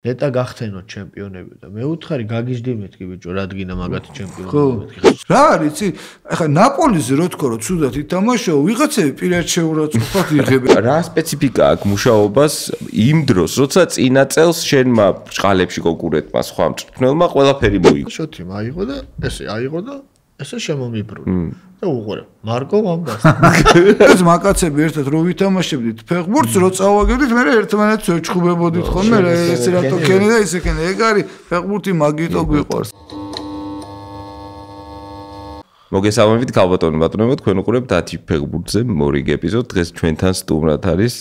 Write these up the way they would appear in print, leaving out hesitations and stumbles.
ნეტა გახთენოთ ჩემპიონები და მეუთხარი გაგიჟდიმეთ კი ბიჭო, რადგინა მაგათი ჩემპიონები მეთქი. რა არის, იცი? ახლა ნაპოლიზე რო თქო რომ ცუდად ითამაშო, ვიღაცები პირად შეურაცხყოფად იღებენ. რა სპეციფიკა აქვს მუშაობას იმ დროს, როცა წინა წელს შენმა ბრჭყალებში კონკურენტმა სხვა მწვრთნელმა ყველაფერი მოიგო. შოთი მაიღო და ესე აიღო და ესე შემომიბრუნე. და უყურე, მარკო ამბას. ეს მაკაცები ერთად რო ვითამაშებდით ფეხბურთს, რო წავაგებდით, მე ერთმანეთს ვეჩხუბებოდით ხოლმე, ეს რატო ქენი და ისე ქენი. ეგ არის ფეხბურთი მაგიტო გვიყვარს. მოგესალმებით ქალბატონო ბატონებო, თქვენ უყურებთ 10 ფეხბურთზე მორიგ ეპიზოდს. დღეს ჩვენთან სტუმრად არის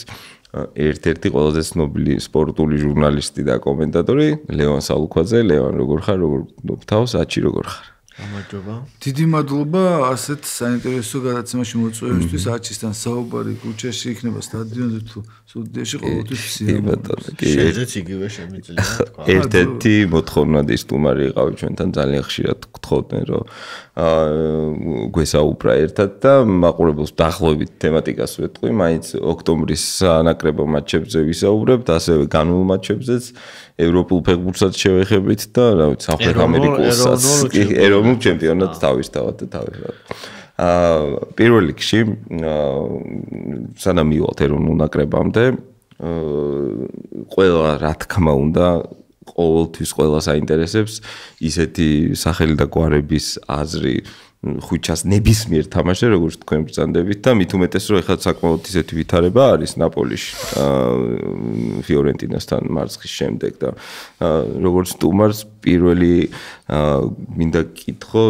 ერთ-ერთი ყველაზე ცნობილი სპორტული ჟურნალისტი და კომენტატორი ლევან სალუქვაძე. ლევან, როგორ ხარ? როგორ გთავს? აჩი როგორ ხარ? გამარჯობა. დიდი მადლობა ასეთ საინტერესო გადაცემაში მოწვევისთვის. აჩისთან საუბარი ქუჩაში იქნება სტადიონზე თუ სტუდიაში ყოველთვის სიამოვნებაა. შეძეც იგივე შემიძლია თქვა. ერთ-ერთი მოთხოვნადი სტუმარი იყავი ჩვენთან, ძალიან ხშირად გთხოვდნენ რომ გვესაუბრა ერთად და მაყურებელს დაახლოებით თემატიკას ვეტყვი, მაინც ოქტომბრის სანაკრებო მატჩებზე ვისაუბრებთ, ასევე განულ მატჩებზეც, ევროპულ ფეხბურთსაც შევეხებით და რა ვიცი, სამხრეთ ამერიკულსაც, ეროვნულ ჩემპიონატს თავისთავად და თავისთავად. პირველ რიგში, სანამ მივალთ ეროვნულ ნაკრებამდე, ყველა რა თქმა უნდა ყოველთვის ყველა საინტერესებს ისეთი სახელი და გვარების აზრი ხუჩას ნებისმიერ თამაშზე, როგორც თქვენ ბრძანდებით და მით უმეტეს რომ ეხლა საკმაოდ ისეთი ვითარება არის ნაპოლიში ფიორენტინასთან მარცხის შემდეგ და როგორც სტუმარს პირველი მინდა გკითხო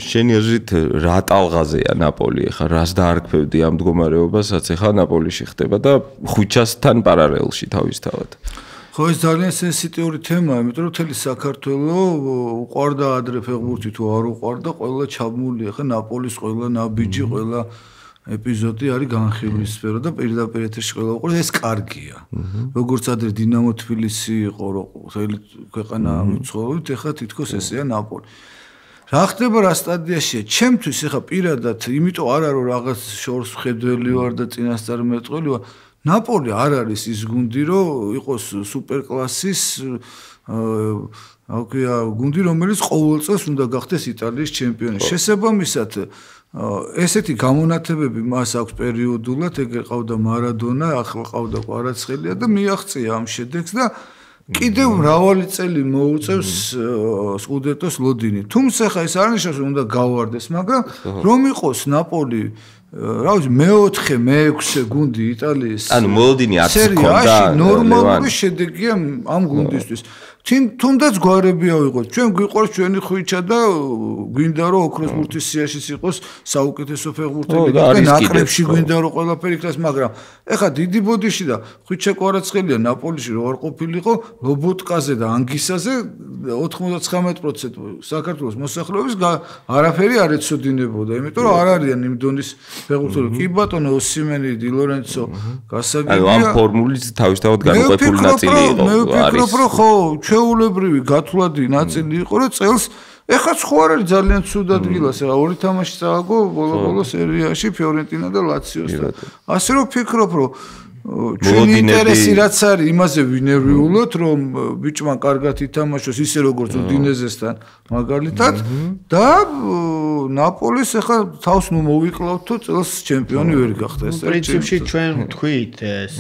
შენი აზრით რა ტალღაზეა ნაპოლი ეხლა რას დაარქმევდი ამ მდგომარეობასაც ეხლა ნაპოლიში ხდება და ხუჩასთან პარალელში თავისთავად ხო ეს ძალიან სენსიტიური თემაა, იმიტომ რომ მთელი საქართველოს უყვარდა ადრე ფეხბურთი თუ არ უყვარდა, ყველა ჩაბმულია, ხა ნაპოლის ყველა ნაბიჯი, ყველა ეპიზოდი არის განხილვის სფერო და პირდაპირ ეთერში ყველა უყურებს, ეს კარგია. როგორც ადრე დინამო თბილისი იყო, რომ მთელი ქვეყანა მიცხოვრებით, ეხლა თითქოს ესეა ნაპოლი. რა ხდება რა სტადიაშია? ჩემთვის ეხლა პირადად, იმიტომ არა რომ რაღაც შორს მხედველი ვარ და წინასწარმეტყველი ვარ. ნაპოლი არ არის ის გუნდი, რომ იყოს სუპერკლასის გუნდი, რომელიც ყოველ წელს უნდა გახდეს იტალიის ჩემპიონი. შესაბამისად, ესეთი გამონათებები მას აქვს პერიოდულად, ეგრე ყავდა მარადონა, ახლა ყავდა კვარაცხელია და მიაღწია ამ შედეგს და კიდევ მრავალი წელი მოუწევს სკუდეტოს ლოდინი. თუმცა ხა ეს არ ნიშნავს, რომ უნდა გავარდეს, მაგრამ რომ იყოს ნაპოლი რა ვიცი მეოთხე, მეექვსე გუნდი იტალიის ანუ მოლოდინი არც ჰქონდა ნორმალური შედეგია ამ გუნდისთვის. თუნდაც გვარები ავიღოთ. ჩვენ გვიყვარს ჩვენი ხვიჩა და გვინდა რომ ოქროს ბურთის სიაშიც იყოს საუკეთესო ფეხბურთელი და ნაკრებში გვინდა რომ ყველაფერი იქნას, მაგრამ ეხა დიდი ბოდიში და ხვიჩა კვარაცხელია ნაპოლიში რო არ ყოფილიყო, ლობოტკაზე და ანგისაზე 99% საქართველოს მოსახლეობის არაფერი არ ეცოდინებოდა, იმიტომ რომ არ არიან იმ დონის ფეხბურთელი. კი ბატონო ოსიმენი, დი ლორენცო, გასაგებია. ანუ ამ ფორმულის თავისთავად განუყოფელი ნაწილი იყო. მე ვფიქრობ, რომ ხო ჩვეულებრივი გათვლადი ნაწილი იყო, რომ წელს ეხაც ხო არ არის ძალიან ცუდ ადგილას, ეხა ორი თამაში წააგო ბოლო-ბოლო სერიაში ფიორენტინა და ლაციოსთან. ასე რომ ვფიქრობ, რომ ჩვენი ინტერესი რაც არის, იმაზე ვინერვიულოთ, რომ ბიჭმა კარგად ითამაშოს ისე როგორც უდინეზესთან მაგალითად და ნაპოლის ეხა თავს ნუ მოვიკლავთო წელს ჩემპიონი ვერ გახდეს. პრინციპში ჩვენ თქვით ეს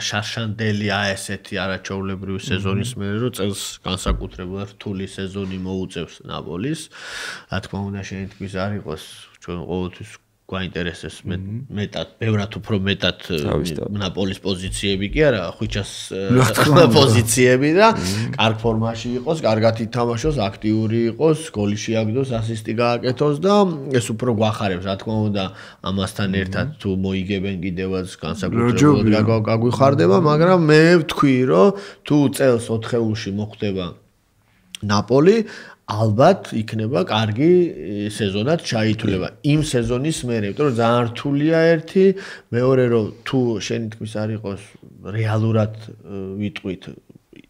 შარშანდელია ესეთი არაჩვეულებრივი სეზონის მერე რომ წელს განსაკუთრებულად რთული სეზონი მოუწევს ნაპოლის. რა თქმა უნდა შენი თქვის არ იყოს ჩვენ ყოველთვის გვაინტერესებს მეტად, ბევრად უფრო მეტად ნაპოლის პოზიციები კი არა, ხვიჩას პოზიციები და კარგ ფორმაში იყოს, კარგად ითამაშოს, აქტიური იყოს, გოლი შეაგდოს, ასისტი გააკეთოს და ეს უფრო გვახარებს, რა თქმა უნდა, ამასთან ერთად თუ მოიგებენ კიდევაც განსაკუთრებულად გაგვიხარდება, მაგრამ მე ვთქვი, რომ თუ წელს 4-ში მოხდება ნაპოლი ალბათ იქნება კარგი სეზონად ჩაითვლება იმ სეზონის მერე, იმიტომ რომ ძალიან რთულია ერთი, მეორე რომ თუ შენი თქმის არ იყოს რეალურად ვიტყვით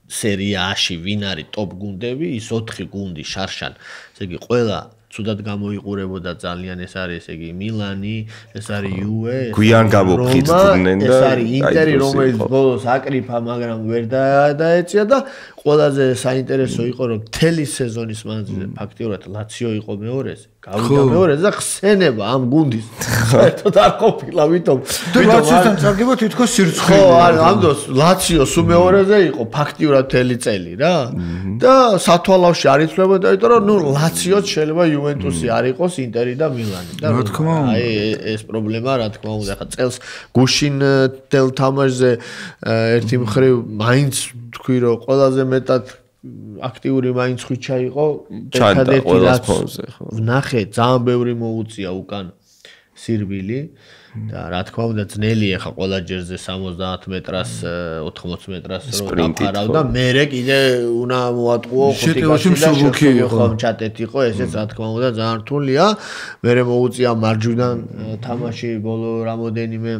სერიაში ვინ არის ტოპ გუნდები, ის 4 გუნდი შარშან, ესე იგი ყველა ცუდად გამოიყურებოდა ძალიან ეს არის ესე იგი მილანი, ეს არის იუვე, გვიან გამოფხიზდნენ და ეს არის ინტერი, რომელიც ბოლოს აკრიფა, მაგრამ ვერ დაეწია და ყველაზე საინტერესო იყო რომ მთელი სეზონის მანძილზე ფაქტიურად ლაციო იყო მეორეზე, გავიდა მეორეზე და ხსენება ამ გუნდის საერთოდ არ ყოფილა, ვითომ ლაციოსთან წარგება თითქოს სირცხვილე. ხო, ამ დროს ლაციო სულ მეორეზე იყო ფაქტიურად მთელი წელი რა. და სათვალავში არ იცვლებოდა, იმიტომ რომ ნუ ლაციოც შეიძლება იუვენტუსი არ იყოს, ინტერი და მილანი. და აი ეს პრობლემა რა თქმა უნდა, ხა წელს გუშინ თელ თამაშზე ერთი მხრივ მაინც თქვი რომ ყველაზე მეტად აქტიური მაინც ხვიჩა იყო ერთადერთი რაც ვნახე ძალიან ბევრი მოუწია უკან სირბილი და რა თქმა უნდა ძნელია ხა ყველა ჯერზე 70 მეტრას 80 მეტრას რო დაფარავდა მერე კიდე უნდა მოატყუო შეტევაში მსუბუქი იყო ჩატეთ იყო ესეც რა თქმა უნდა ძალიან რთულია მერე მოუწია მარჯვნიდან თამაში ბოლო რამოდენიმე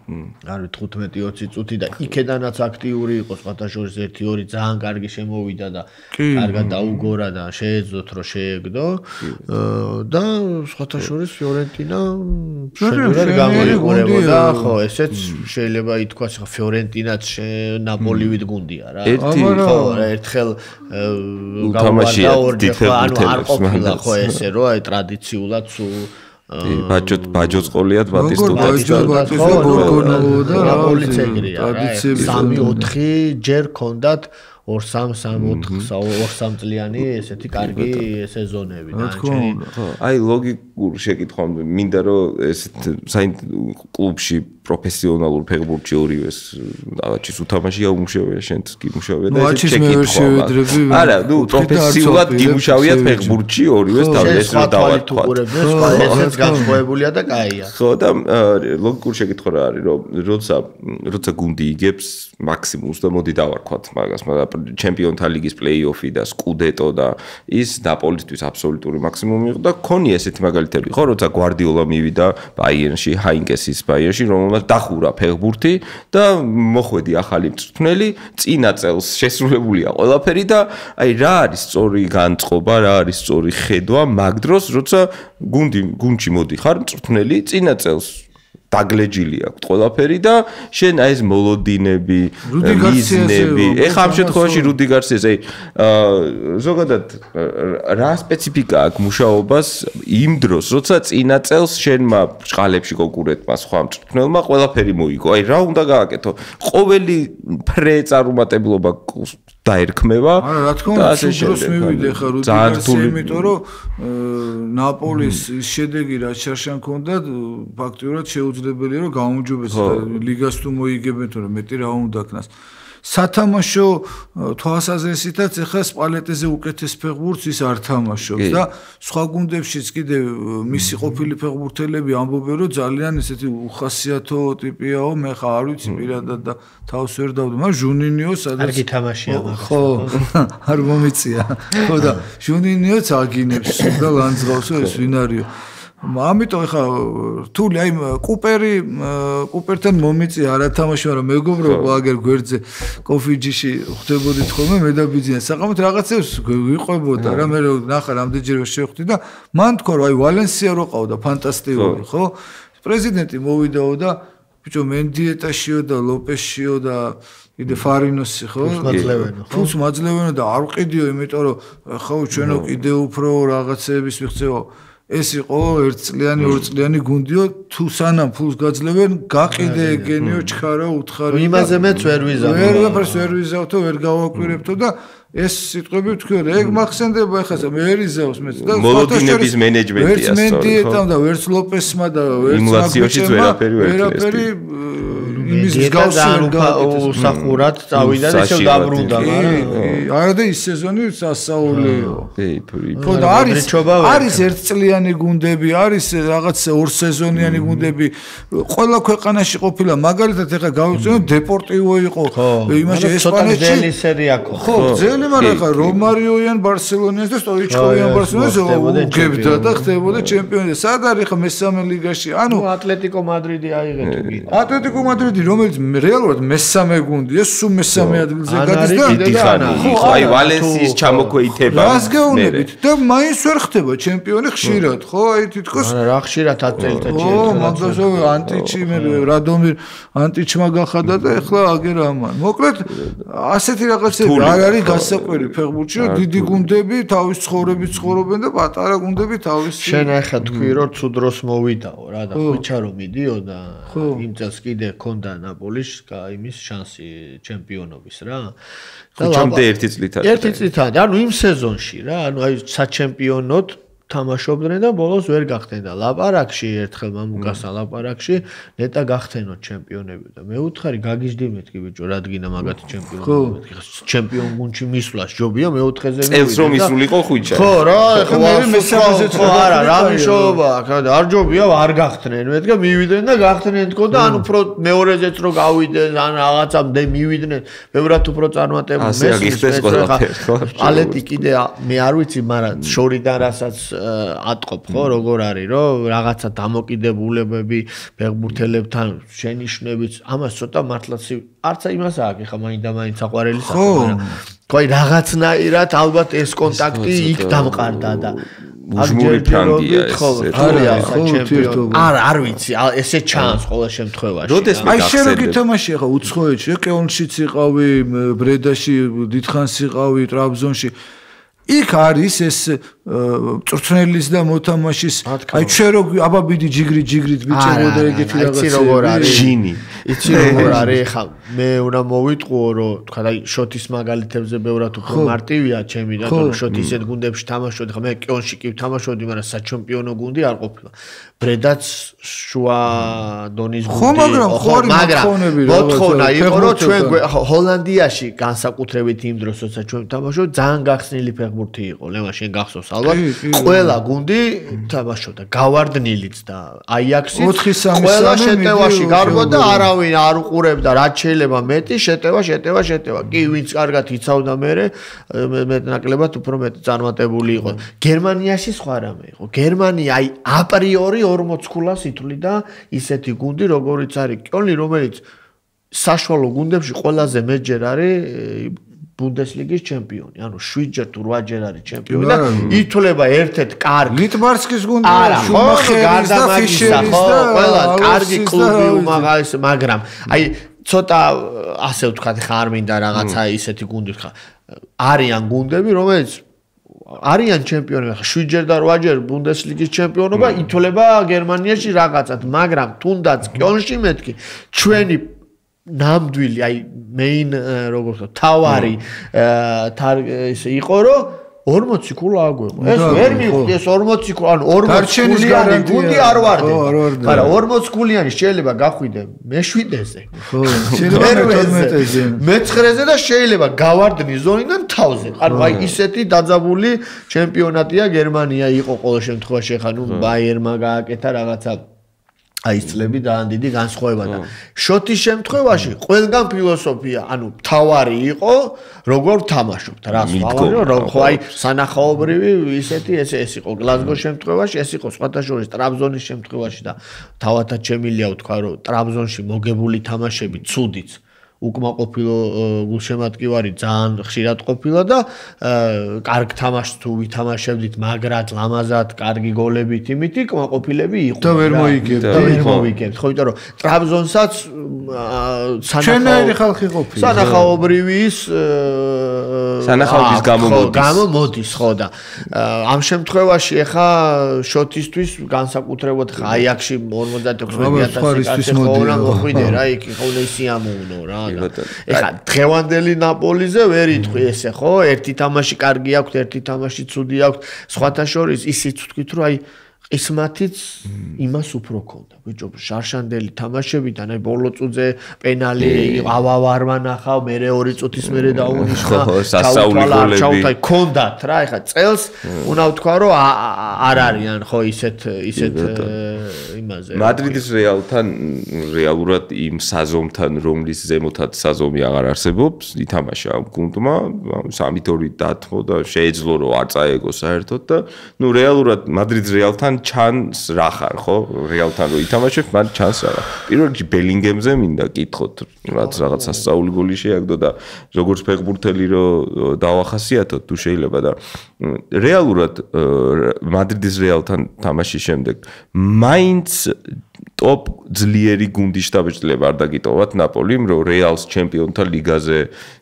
არის 15-20 წუთი და იქედანაც აქტიური იყო სხვათაშორის 1-2 ძალიან კარგი შემოვიდა და კარგად დაუგორა და შეეძლოთ რომ შეეგდო და სხვათაშორის ფიორენტინა შედარებით გამოიყურებოდა ხო ესეც შეიძლება ითქვას ხა ფიორენტინაც ნაპოლივით გუნდია რა ხო ერთხელ გავარდა ორჯერ ხო ანუ არ ყოფილა ხო ესე რომ აი ტრადიციულად სულ ბაჯოს ყოლიათ ბატისტუტას და გორგონოვო და ნაპოლის ეგრეა რა 3-4 ჯერ ქონდათ 2-3 წლიანი ესეთი კარგი სეზონები და აი ლოგიკურ შეკითხვამდე მინდა რომ ეს კლუბში პროფესიონალურ ფეხბურთში ორივეს რაღაცის უთამაში აუმუშავია შენც გიმუშავია და ეს შეკითხვა არა ნუ პროფესიულად გიმუშავიათ ფეხბურთში ორივეს და ეს რა დავარქვათ ესეც განსხვავებულია და კაია ხო და ლოგიკურ შეკითხვა რა არის რომ როცა გუნდი იგებს მაქსიმუმს და მოდი დავარქვათ მაგას მაგრამ ჩემპიონთა ლიგის პლეი-ოფი და სკუდეტო და ის ნაპოლისთვის აბსოლუტური მაქსიმუმი იყო და ქონია ესეთი მაგალითები ხო როცა გვარდიოლა მივიდა ბაიერნში ჰაინკესის ბაიერნში რომელმაც დახურა ფეხბურთი და მოხვედი ახალი მწვრთნელი წინა წელს შესრულებულია ყველაფერი და აი რა არის სწორი განწყობა რა არის სწორი ხედვა მაგ დროს როცა გუნდში მოდიხარ მწვრთნელი წინა წელს დაგლეჯილი აქვს ყველაფერი და შენ აი ეს მოლოდინები, მიზნები. ეხლა ამ შემთხვევაში რუდი გარსიას აი ზოგადად რა სპეციფიკა აქვს მუშაობას იმ დროს, როცა წინა წელს შენმა ბრჭყალებში კონკურენტმა სხვა მწვრთნელმა ყველაფერი მოიგო. აი რა უნდა გააკეთო? ყოველი ფრე წარუმატებლობა დაერქმევა. არა, რა თქმა უნდა, სულდროს მივიდე ხა რუდი გარსია, იმიტომ რომ ნაპოლის შედეგი რაც შარშან ქონდათ, ფაქტიურად შეუძლებელია რომ გაუმჯობესდეს ლიგას თუ მოიგებენ თორე მეტი რა უნდა ქნას. სათამაშო თვალსაზრისითაც ეხლა სპალეტეზე უკეთეს ფეხბურთს ის არ თამაშობს და სხვა გუნდებშიც კიდე მისი ყოფილი ფეხბურთელები ამბობენ რომ ძალიან ესეთი უხასიათო ტიპიაო მე ხა არ ვიცი პირადად და თავს ვერ დავდო მაგრამ ჟუნინიო სადაც კარგი თამაშია ხო არ მომიწია ხო და ჟუნინიოც აგინებს და ლანძღავსო ეს ვინ არისო ამიტომ ეხა რთული აი კუპერთან მომიწია არა თამაში მაგრამ მეგობრობა აგერ გვერდზე კოფიჯიში ხვდებოდით ხოლმე მე და ბიძინა საყამოთ რაღაცებს ვიყვებოდა რა მე ნახა რამდენჯერმე შევხვდი და მან თქვა რომ აი ვალენსია რო ყავდა ფანტასტიკური ხო პრეზიდენტი მოვიდაო და ბიჭო მენდიეტაშიო და ლოპესშიო და კიდე ფარინოსი ხო ფულს მაძლევენო და არ ვყიდიო იმიტომ რომ ხო ჩვენო კიდე უფრო რაღაცების მიღწევა ეს იყო 1 წლიანი 2 წლიანი გუნდიო თუ სანამ ფულს გაძლევენ გაყიდე ეგენიო ჩქარა უთხარი იმაზე მეც ვერ ვიზავ ვერ ვიზავთო ვერ გავაკვირებთო და ეს სიტყვები თქვი რა ეგ მახსენდება ეხლა მე ერიზავს მეც და მოლოდინების მენეჯმენტია სწორად ვერც მენდიეტამ და ვერც ლოპესმა და ვერც იმულაციოშიც ვერაფერი იმის გავსი უსახურად წავიდა და ისევ დაბრუნდა არა და ის სეზონი სასაულიო ხო და არის 1 წლიანი გუნდები არის რაღაც 2 სეზონიანი გუნდები ყველა ქვეყანაში ყოფილა მაგალითად ეხლა გავიწევთ დეპორტივო იყო იმაში ესპანეთში ძელი სერია ხო ძელი მაგრამ ხა რომარიოიან ბარსელონიას და სტოიჩკოვიან ბარსელონას უგებდა და ხდებოდა ჩემპიონი სად არის ხა მესამე ლიგაში ანუ ატლეტიკო მადრიდი აიღეთ ატლეტიკო მადრიდი მადრიდი რომელიც რეალურად მესამე გუნდია, სულ მესამე ადგილზე გადის და ხო აი ვალენსიის ჩამოქვეითება. რას გეუბნებით და მაინც ვერ ხდება ჩემპიონი ხშირად, ხო? აი თითქოს რა ხშირად აწელდა ჩემპიონი. ო, მაგასო ანტიჩი მე რადომირ ანტიჩმა გახადა და ეხლა აგერ ამან. მოკლედ ასეთი რაღაცები არ არის გასაკვირი ფეხბურთში, რომ დიდი გუნდები თავის ცხოვრებით ცხოვრობენ და პატარა გუნდები თავის შენ ახლა თქვი რომ თუ დროს მოვიდაო რა და ხვიჩა რომ მიდიოდა იმ წელს კიდე ქონდა ნაპოლის იმის შანსი ჩემპიონობის რა ხუჩამდე ერთი წლით არის ერთი წლით არის ანუ იმ სეზონში რა ანუ აი საჩემპიონოდ თამაშობდნენ და ბოლოს ვერ გახდნენ და ლაპარაკში ერთხელ მამუკასა ლაპარაკში ნეტა გახთენოთ ჩემპიონები და მე უთხარი გაგიჟდი მეთქი ბიჭო რადგინა მაგათი ჩემპიონები მეთქი ჩემპიონ გუნდში მისვლას ჯობია მეოთხეზე წელს რომ ისულიყო ხვიჩა ხო რა ხო მე მესამეზე ხო არა რა მიშობა არ ჯობია არ გახთნენ მეთქი მივიდნენ და გახთნენ თქო და ანუ უფრო მეორეზეც რო გავიდნენ ან რაღაცამდე მივიდნენ ბევრად უფრო წარმატებული ასე გიხდეს ყველაფერი ხო პალეტი კიდე მე არ ვიცი მაგრამ შორიდან რასაც ატყობ ხო როგორ არის რომ რაღაცა დამოკიდებულებები ფეხბურთელებთან შენიშვნებით ამას ცოტა მართლაც არც იმას აქვს ხა მაინდა-მაინც აყვარელი საქმე მაგრამ ხო აი რაღაცნაირად ალბათ ეს კონტაქტი იქ დამყარდა და უჟმური ფრანგია ეს არ ვიცი ესე ჩანს ყოველ შემთხვევაში აი შენ რო გითამაში ხა უცხოეთში კეონშიც იყავი ბრედაში დიდხანს იყავი ტრაბზონში იქ არის ეს წვრთნელის და მოთამაშის აი ჩვენ რო აბაბიდი ჯიგრით ბიჭებოდა ეგეთი რაღაცები იცი როგორ არის ჟინი იცი როგორ არის ხა მე უნდა მოვიტყუო რომ თქვა აი შოთის მაგალითებზე ბევრად უფრო მარტივია ჩემი და რომ შოთი ისეთ გუნდებში თამაშობდი ხა მე კეონში კი ვთამაშობდი მაგრამ საჩემპიონო გუნდი არ ყოფილა ბრედაც შუა დონის გუნდი მაგრამ მოთხოვნა იყო რომ ჩვენ ჰოლანდიაში განსაკუთრებით იმ დროს როცა ჩვენ ვთამაშობთ ძალიან გახსნილი ფეხბურთი იყო ლემა შენ გახსოვს ალბათ ყველა გუნდი თამაშობდა გავარდნილიც და აიაქსიც ყველა შეტევაში გარბოდა არავინ არ უყურებდა რაც შეიძლება მეტი შეტევა კი ვინც კარგად იცავდა მეტნაკლებად უფრო მეტი წარმატებული იყო გერმანიაში სხვა რამე იყო გერმანია აი აპრიორი 40 ქულას ითვლიდა ისეთი გუნდი როგორიც არის კიოლნი რომელიც საშუალო გუნდებში ყველაზე მეტჯერ არის ბუნდესლიგის ჩემპიონი, ანუ 7ჯერ თუ 8ჯერ არის ჩემპიონი და ითვლება ერთ-ერთ კარგი ლიტბარსკის გუნდი, შუმახერის და ფიშერის და ყველა კარგი კლუბი უმაღლეს, მაგრამ აი ცოტა ასე ვთქვათ, ხა არ მინდა რაღაცა ისეთი გუნდი ვთქვა. არიან გუნდები, რომელიც არიან ჩემპიონები, ხა 7ჯერ და 8ჯერ ბუნდესლიგის ჩემპიონობა ითვლება გერმანიაში რაღაცად, მაგრამ თუნდაც კიოლნში მეთქი ჩვენი ნამდვილი აი მეინ როგორ ვთქვა თავარი ისე იყო რომ 40 ქულა აგვეყო ეს ვერ მივხვდი ეს 40 ქულა ანუ 40 ქულიანი გუნდი არ ვარდება მაგრამ 40 ქულიანი შეიძლება გახვიდე მე-7-ზე ხო შეიძლება მე-12-ზე მე-9-ზე და შეიძლება გავარდნი ზონიდან თავზე ანუ აი ისეთი დაძაბული ჩემპიონატია გერმანია იყო ყოველ შემთხვევაში ხა ნუ ბაიერმა გააკეთა რაღაცა აი წლები ძალიან დიდი განსხვავება და შოთის შემთხვევაში ყველგან ფილოსოფია, ანუ თავარი იყო, როგორ თამაშობთ, რას ვავარო, რომ ხო აი სანახაობრივი ისეთი ეს იყო გლაზგოს შემთხვევაში, ეს იყო სხვათა შორის ტრაბზონის შემთხვევაში და თავათაც შემილია ვთქვა, რომ ტრაბზონში მოგებული თამაშები ცუდიც უკმაყოფილო გულშემატკივარი ძალიან ხშირად ყოფილა და კარგ თამაშს თუ ვითამაშებდით მაგრად ლამაზად კარგი გოლებით იმითი კმაყოფილები იყო და ვერ მოიგებთ ხო იმიტომ რომ ტრაბზონსაც ჩვენაირი ხალხი ყოფილა სანახაობრივის გამოდის ხო და ამ შემთხვევაში ახლა შოთისთვის განსაკუთრებულად ხა აიაქსში 56,000 ხო რა მოხვიდე რა იქ ხო ისიამოვნო რა ეხა დღევანდელი ნაპოლიზე ვერ იტყვი ესე ხო ერთი თამაში კარგი აქვს ერთი თამაში ცუდი აქვს სხვათა შორის ისიც ვთქვით რომ აი ყისმათიც იმას უფრო ქონდა ბიჭო შარშანდელი თამაშებიდან აი ბოლო წუთზე პენალი ავავარმა ნახავ მე 2 წუთის მერე დაუნიშნა სასაული გოლები ქონდათ რა ეხა წელს უნდა ვთქვა რომ არ არიან ხო ისეთ იმაზე. მადრიდის რეალთან რეალურად იმ საზომთან, რომლის ზემოთაც საზომი აღარ არსებობს, ითამაშა ამ გუნდმა, 3-2 დათმო და შეეძლო რომ არ წაეგო საერთოდ და ნუ რეალურად მადრიდის რეალთან ჩანს რა ხარ, ხო? რეალთან რო ითამაშებ, მან ჩანს რა. პირველ რიგში ბელინგემზე მინდა კითხოთ, რაც რაღაც სასწაული გოლი შეაგდო და როგორც ფეხბურთელი რო დავახასიათოთ თუ შეიძლება და რეალურად მადრიდის რეალთან თამაშის შემდეგ მაინც ტოპ ძლიერი გუნდის შტაბ-ჭრილება არ დაგიტოვათ ნაპოლიმ, რომ რეალს ჩემპიონთა ლიგაზე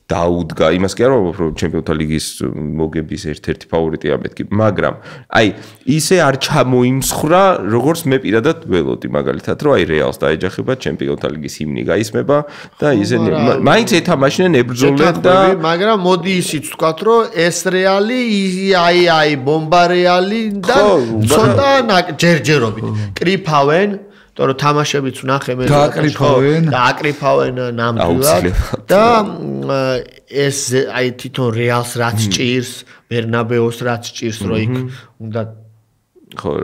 დაუდგა. იმას კი არ ვამბობ, რომ ჩემპიონთა ლიგის მოგების ერთ-ერთი ფავორიტია მეთქი, მაგრამ აი ისე არ ჩამოიმსხრა, როგორც მე პირადად ველოდი მაგალითად, რომ აი რეალს დაეჯახება ჩემპიონთა ლიგის ჰიმნი გაისმება და ისინი მაინც ეთამაშნენ ებრძოლენ და მაგრამ მოდი ისიც ვთქვათ, რომ ეს რეალი აი ბომბა რეალი და ცოტა ჯერჯერობით კრიფავენ თორე თამაშებიც ვნახე მე და აკრიფავენ ნამდვილად და ეს აი თვითონ რეალს რაც ჭირს, ბერნაბეოს რაც ჭირს, რომ იქ უნდა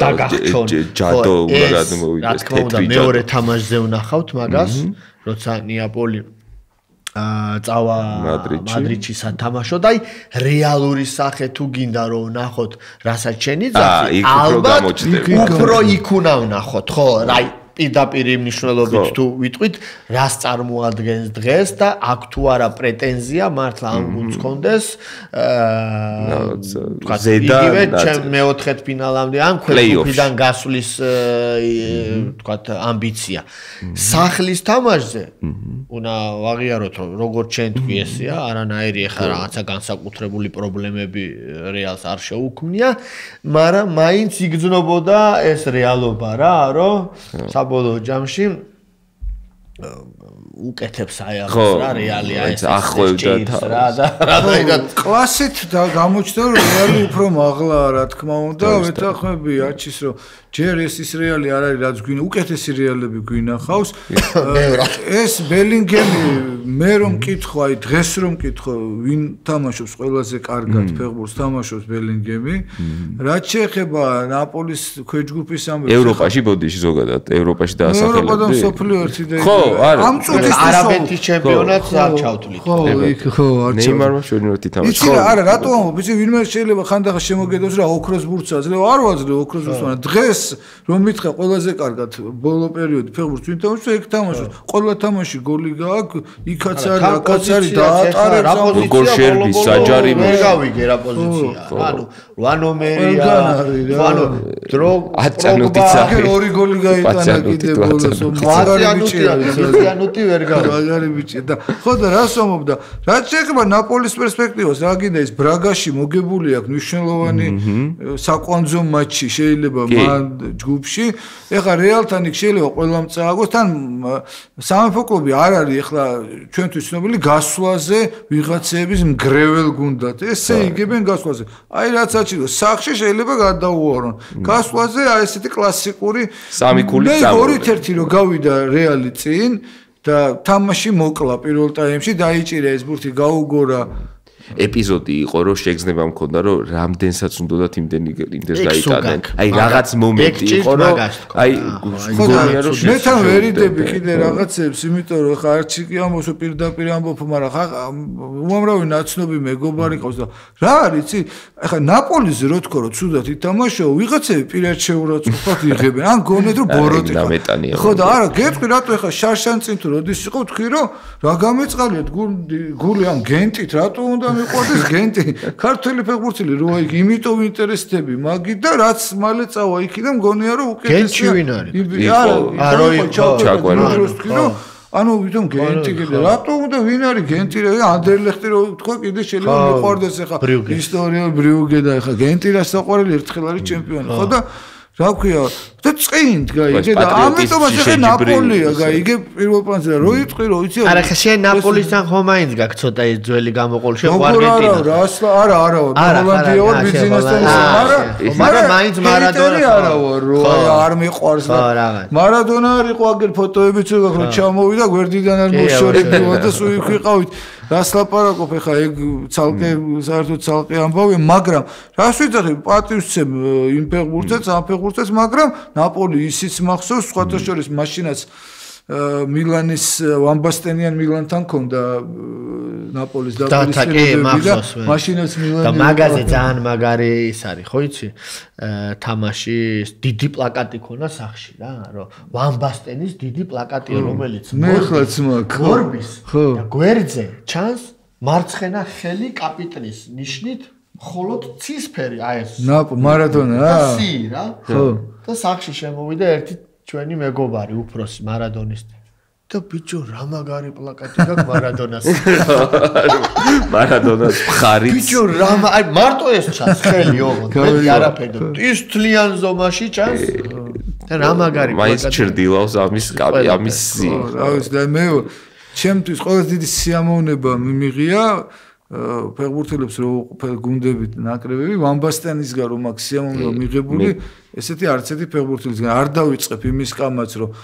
დაგახჩონ. ჯადო უნდა გადმოვიდეს თეთრი ჯადო. მეორე თამაშზე ვნახავთ მაგას, როცა ნეაპოლი წავა მადრიდში სათამაშო და აი რეალური სახე თუ გინდა რომ ვნახოთ რასაც შენი ძახი ალბათ უფრო იქ უნდა ვნახოთ ხო აი პირდაპირ მნიშვნელობით თუ ვიტყვით რას წარმოადგენს დღეს და აქ თუ არა პრეტენზია მართლა ამ გუნდს კონდეს იგივე მეოთხედ ფინალამდე ან ქვეითიდან გასვლის თქვათ ამბიცია სახლის თამაშზე უნდა ვაღიაროთ რომ როგორც ჩვენ თქვი ესეა არანაირი ახლა რაღაცა განსაკუთრებული პრობლემები რეალს არ შეუქმნია მაგრამ მაინც იგრძნობოდა ეს რეალობა რა რომ საბოლოო ჯამში უკეთებს აიაღებს რა რეალია ეს ახლოვდა და კლასით და გამოჩნდა რომ რეალი უფრო მაღლა რა თქმა უნდა ვეთანხმები არჩის რომ ჯერ ეს რეალი არ არის რაც გვინ უკეთესი რეალები გვინახავს ეს ბელინგემი მე რომ მკითხო აი დღეს რომ მკითხო ვინ თამაშობს ყველაზე კარგად ფეხბურთს თამაშობს ბელინგემი რაც შეეხება ნაპოლის ქვეჯგუფის ამბებს ევროპაში ბოდიში ზოგადად ევროპაში დაასახელებს ევროპა და მსოფლიო ერთი და ხო არა ამ წუთის არაბეთის ჩემპიონატს არ ჩავთვლით ხო იქ ხო არ ჩავთვლით ნეიმარმა შევინოთ ითამაშა იცი არა რატო ამბობ იცი ვინმე შეიძლება ხანდახან შემოგედოს რა ოქროს ბურთს აძლევ არ ვაძლევ ოქროს ბურთს მაგრამ დღეს რომ მითხრა ყველაზე კარგად ბოლო პერიოდი ფეხბურთს ვინ თამაშობს ეგ თამაშობს ყველა თამაში გოლი გააქვს იქაც არის აქაც არის დაატარებს გოლ შერბი საჯარი ვერ გავიგე რა პოზიცია ანუ 8 ნომერია ანუ აწანუტიცა ორი გოლი გაიტანა კიდე ბოლოს აწანუტი ვერ გავიგე მაგარი ბიჭია და ხო და რას ვამბობ და რაც შეეხება ნაპოლის პერსპექტივას რა გინდა ის ბრაგაში მოგებული აქვს მნიშვნელოვანი საკვანძო მატჩი შეიძლება მან ჯგუფში ეხლა რეალთან იქ შეიძლება ყველამ წააგოს თან სამეფო კლუბი არ არის ეხლა ჩვენთვის ცნობილი გასვლაზე ვიღაცების მგრეվել გუნდად ესე იგებენ გასვლაზე აი რაც აჩირო სახში შეიძლება გადაუვარონ გასვლაზე აი ესეთი კლასიკური სამი ქული წამოვიდა 2-1 რომ გავიდა რეალი წინ და თამაში მოკლა პირველ ტაიმში დაიჭირა ეს ბურთი გაუგორა ეპიზოდი იყო რომ შეგრძნება მქონდა რომ რამდენსაც უნდათ იმდენს გაიტანენ აი რაღაც მომენტი იყო რომ აი გონია რომ მე თან ვერიდები კიდე რაღაცებს იმიტომ რომ ხა არჩი კი ამბობს პირდაპირ ამბობ მაგრამ ხა უამრავი ნაცნობი მეგობარი ყავს და რა არის იცი ხა ნაპოლიზე რო თქო რომ ცუდად ითამაშო ვიღაცები პირად შეურაცხყოფად იღებენ ან გონეთ რომ ბოროტი ხო და არა გეტყვი რატო ხა შარშან წინ თუ როდის იყო თქვი რომ რა გამეწყალიათ გული ამ გენტით რატო უნდა მიყვარდეს გენტი ქართველი ფეხბურთელი რო აი იმიტომ ინტერესდები მაგი და რაც მალე წავა იქიდან მგონია რომ უკეთესია გენტი ვინ არის არა ანუ ვითომ გენტი კიდე რატო უნდა ვინ არის გენტი რა ანდერლეხტი რო თქვა კიდე შეიძლება მიყვარდეს ახლა ისტორია ბრიუგე და ახლა გენტი რასაყვარელი ერთხელ არის ჩემპიონი ხო და რა ქვია და წინ გაიგე და ამიტომაც ახლა ნაპოლია გაიგე პირველ პლანზე რო იტყვი რო იცი არა ხა შენ ნაპოლისთან ხომ მაინც გაქვს ცოტა ეს ძველი გამოყოლ შენ არგენტინა არა ჰოლანდია ვარ ბიზნესთან მაგრამ მაინც მარადონა არა ვარ რო არ მიყვარს მარადონა არ იყო აგერ ფოტოებიც რო ჩამოვიდა გვერდიდან არ მოშორებიო და სულ იქ ვიყავით რას ლაპარაკობ ეხა ეგ ცალკე საერთოდ ცალკე ამბავია, მაგრამ რას ვიძახი პატივსცემ იმ ფეხბურთელს, ამ ფეხბურთელს, მაგრამ ნაპოლი ისიც მახსოვს, სხვათა შორის მაშინაც მილანის ვამბასტენიან მილანთან ქონდა ნაპოლის დაპირისპირებები და მაშინაც მილანი და მაგაზე ძალიან მაგარი ის არის, ხო იცი? თამაში დიდი პლაკატი ქონა სახში რა, რომ ვამბასტენის დიდი პლაკატია, რომელიც მეხლაც მაქვს. გორბის და გვერდზე ჩანს მარცხენა ხელი კაპიტნის ნიშნით, მხოლოდ ცისფერი აი ეს. მარადონა რა? სი რა. ხო. და სახში შემოვიდა ერთი ჩვენი მეგობარი უფროსი მარადონისტი და ბიჭო რა მაგარი პლაკატი გაქვს მარადონას მარადონას მხარიც ბიჭო რა აი მარტო ეს ჩანს ხელი ოღონდ მე არაფერი ის თლიან ზომაში ჩანს და რა მაგარი პლაკატი მაინც ჩრდილავს ამის კაპი ამის სი რა ვიცი და მე ჩემთვის ყველაზე დიდი სიამოვნება მიმიღია ფეხბურთელებს რო გუნდებით ნაკრებები ვამბასტენისგან რომ აქ სიამოვნება მიღებული ესეთი არც ერთი ფეხბურთელისგან არ დავიწყებ იმის კამაც რომ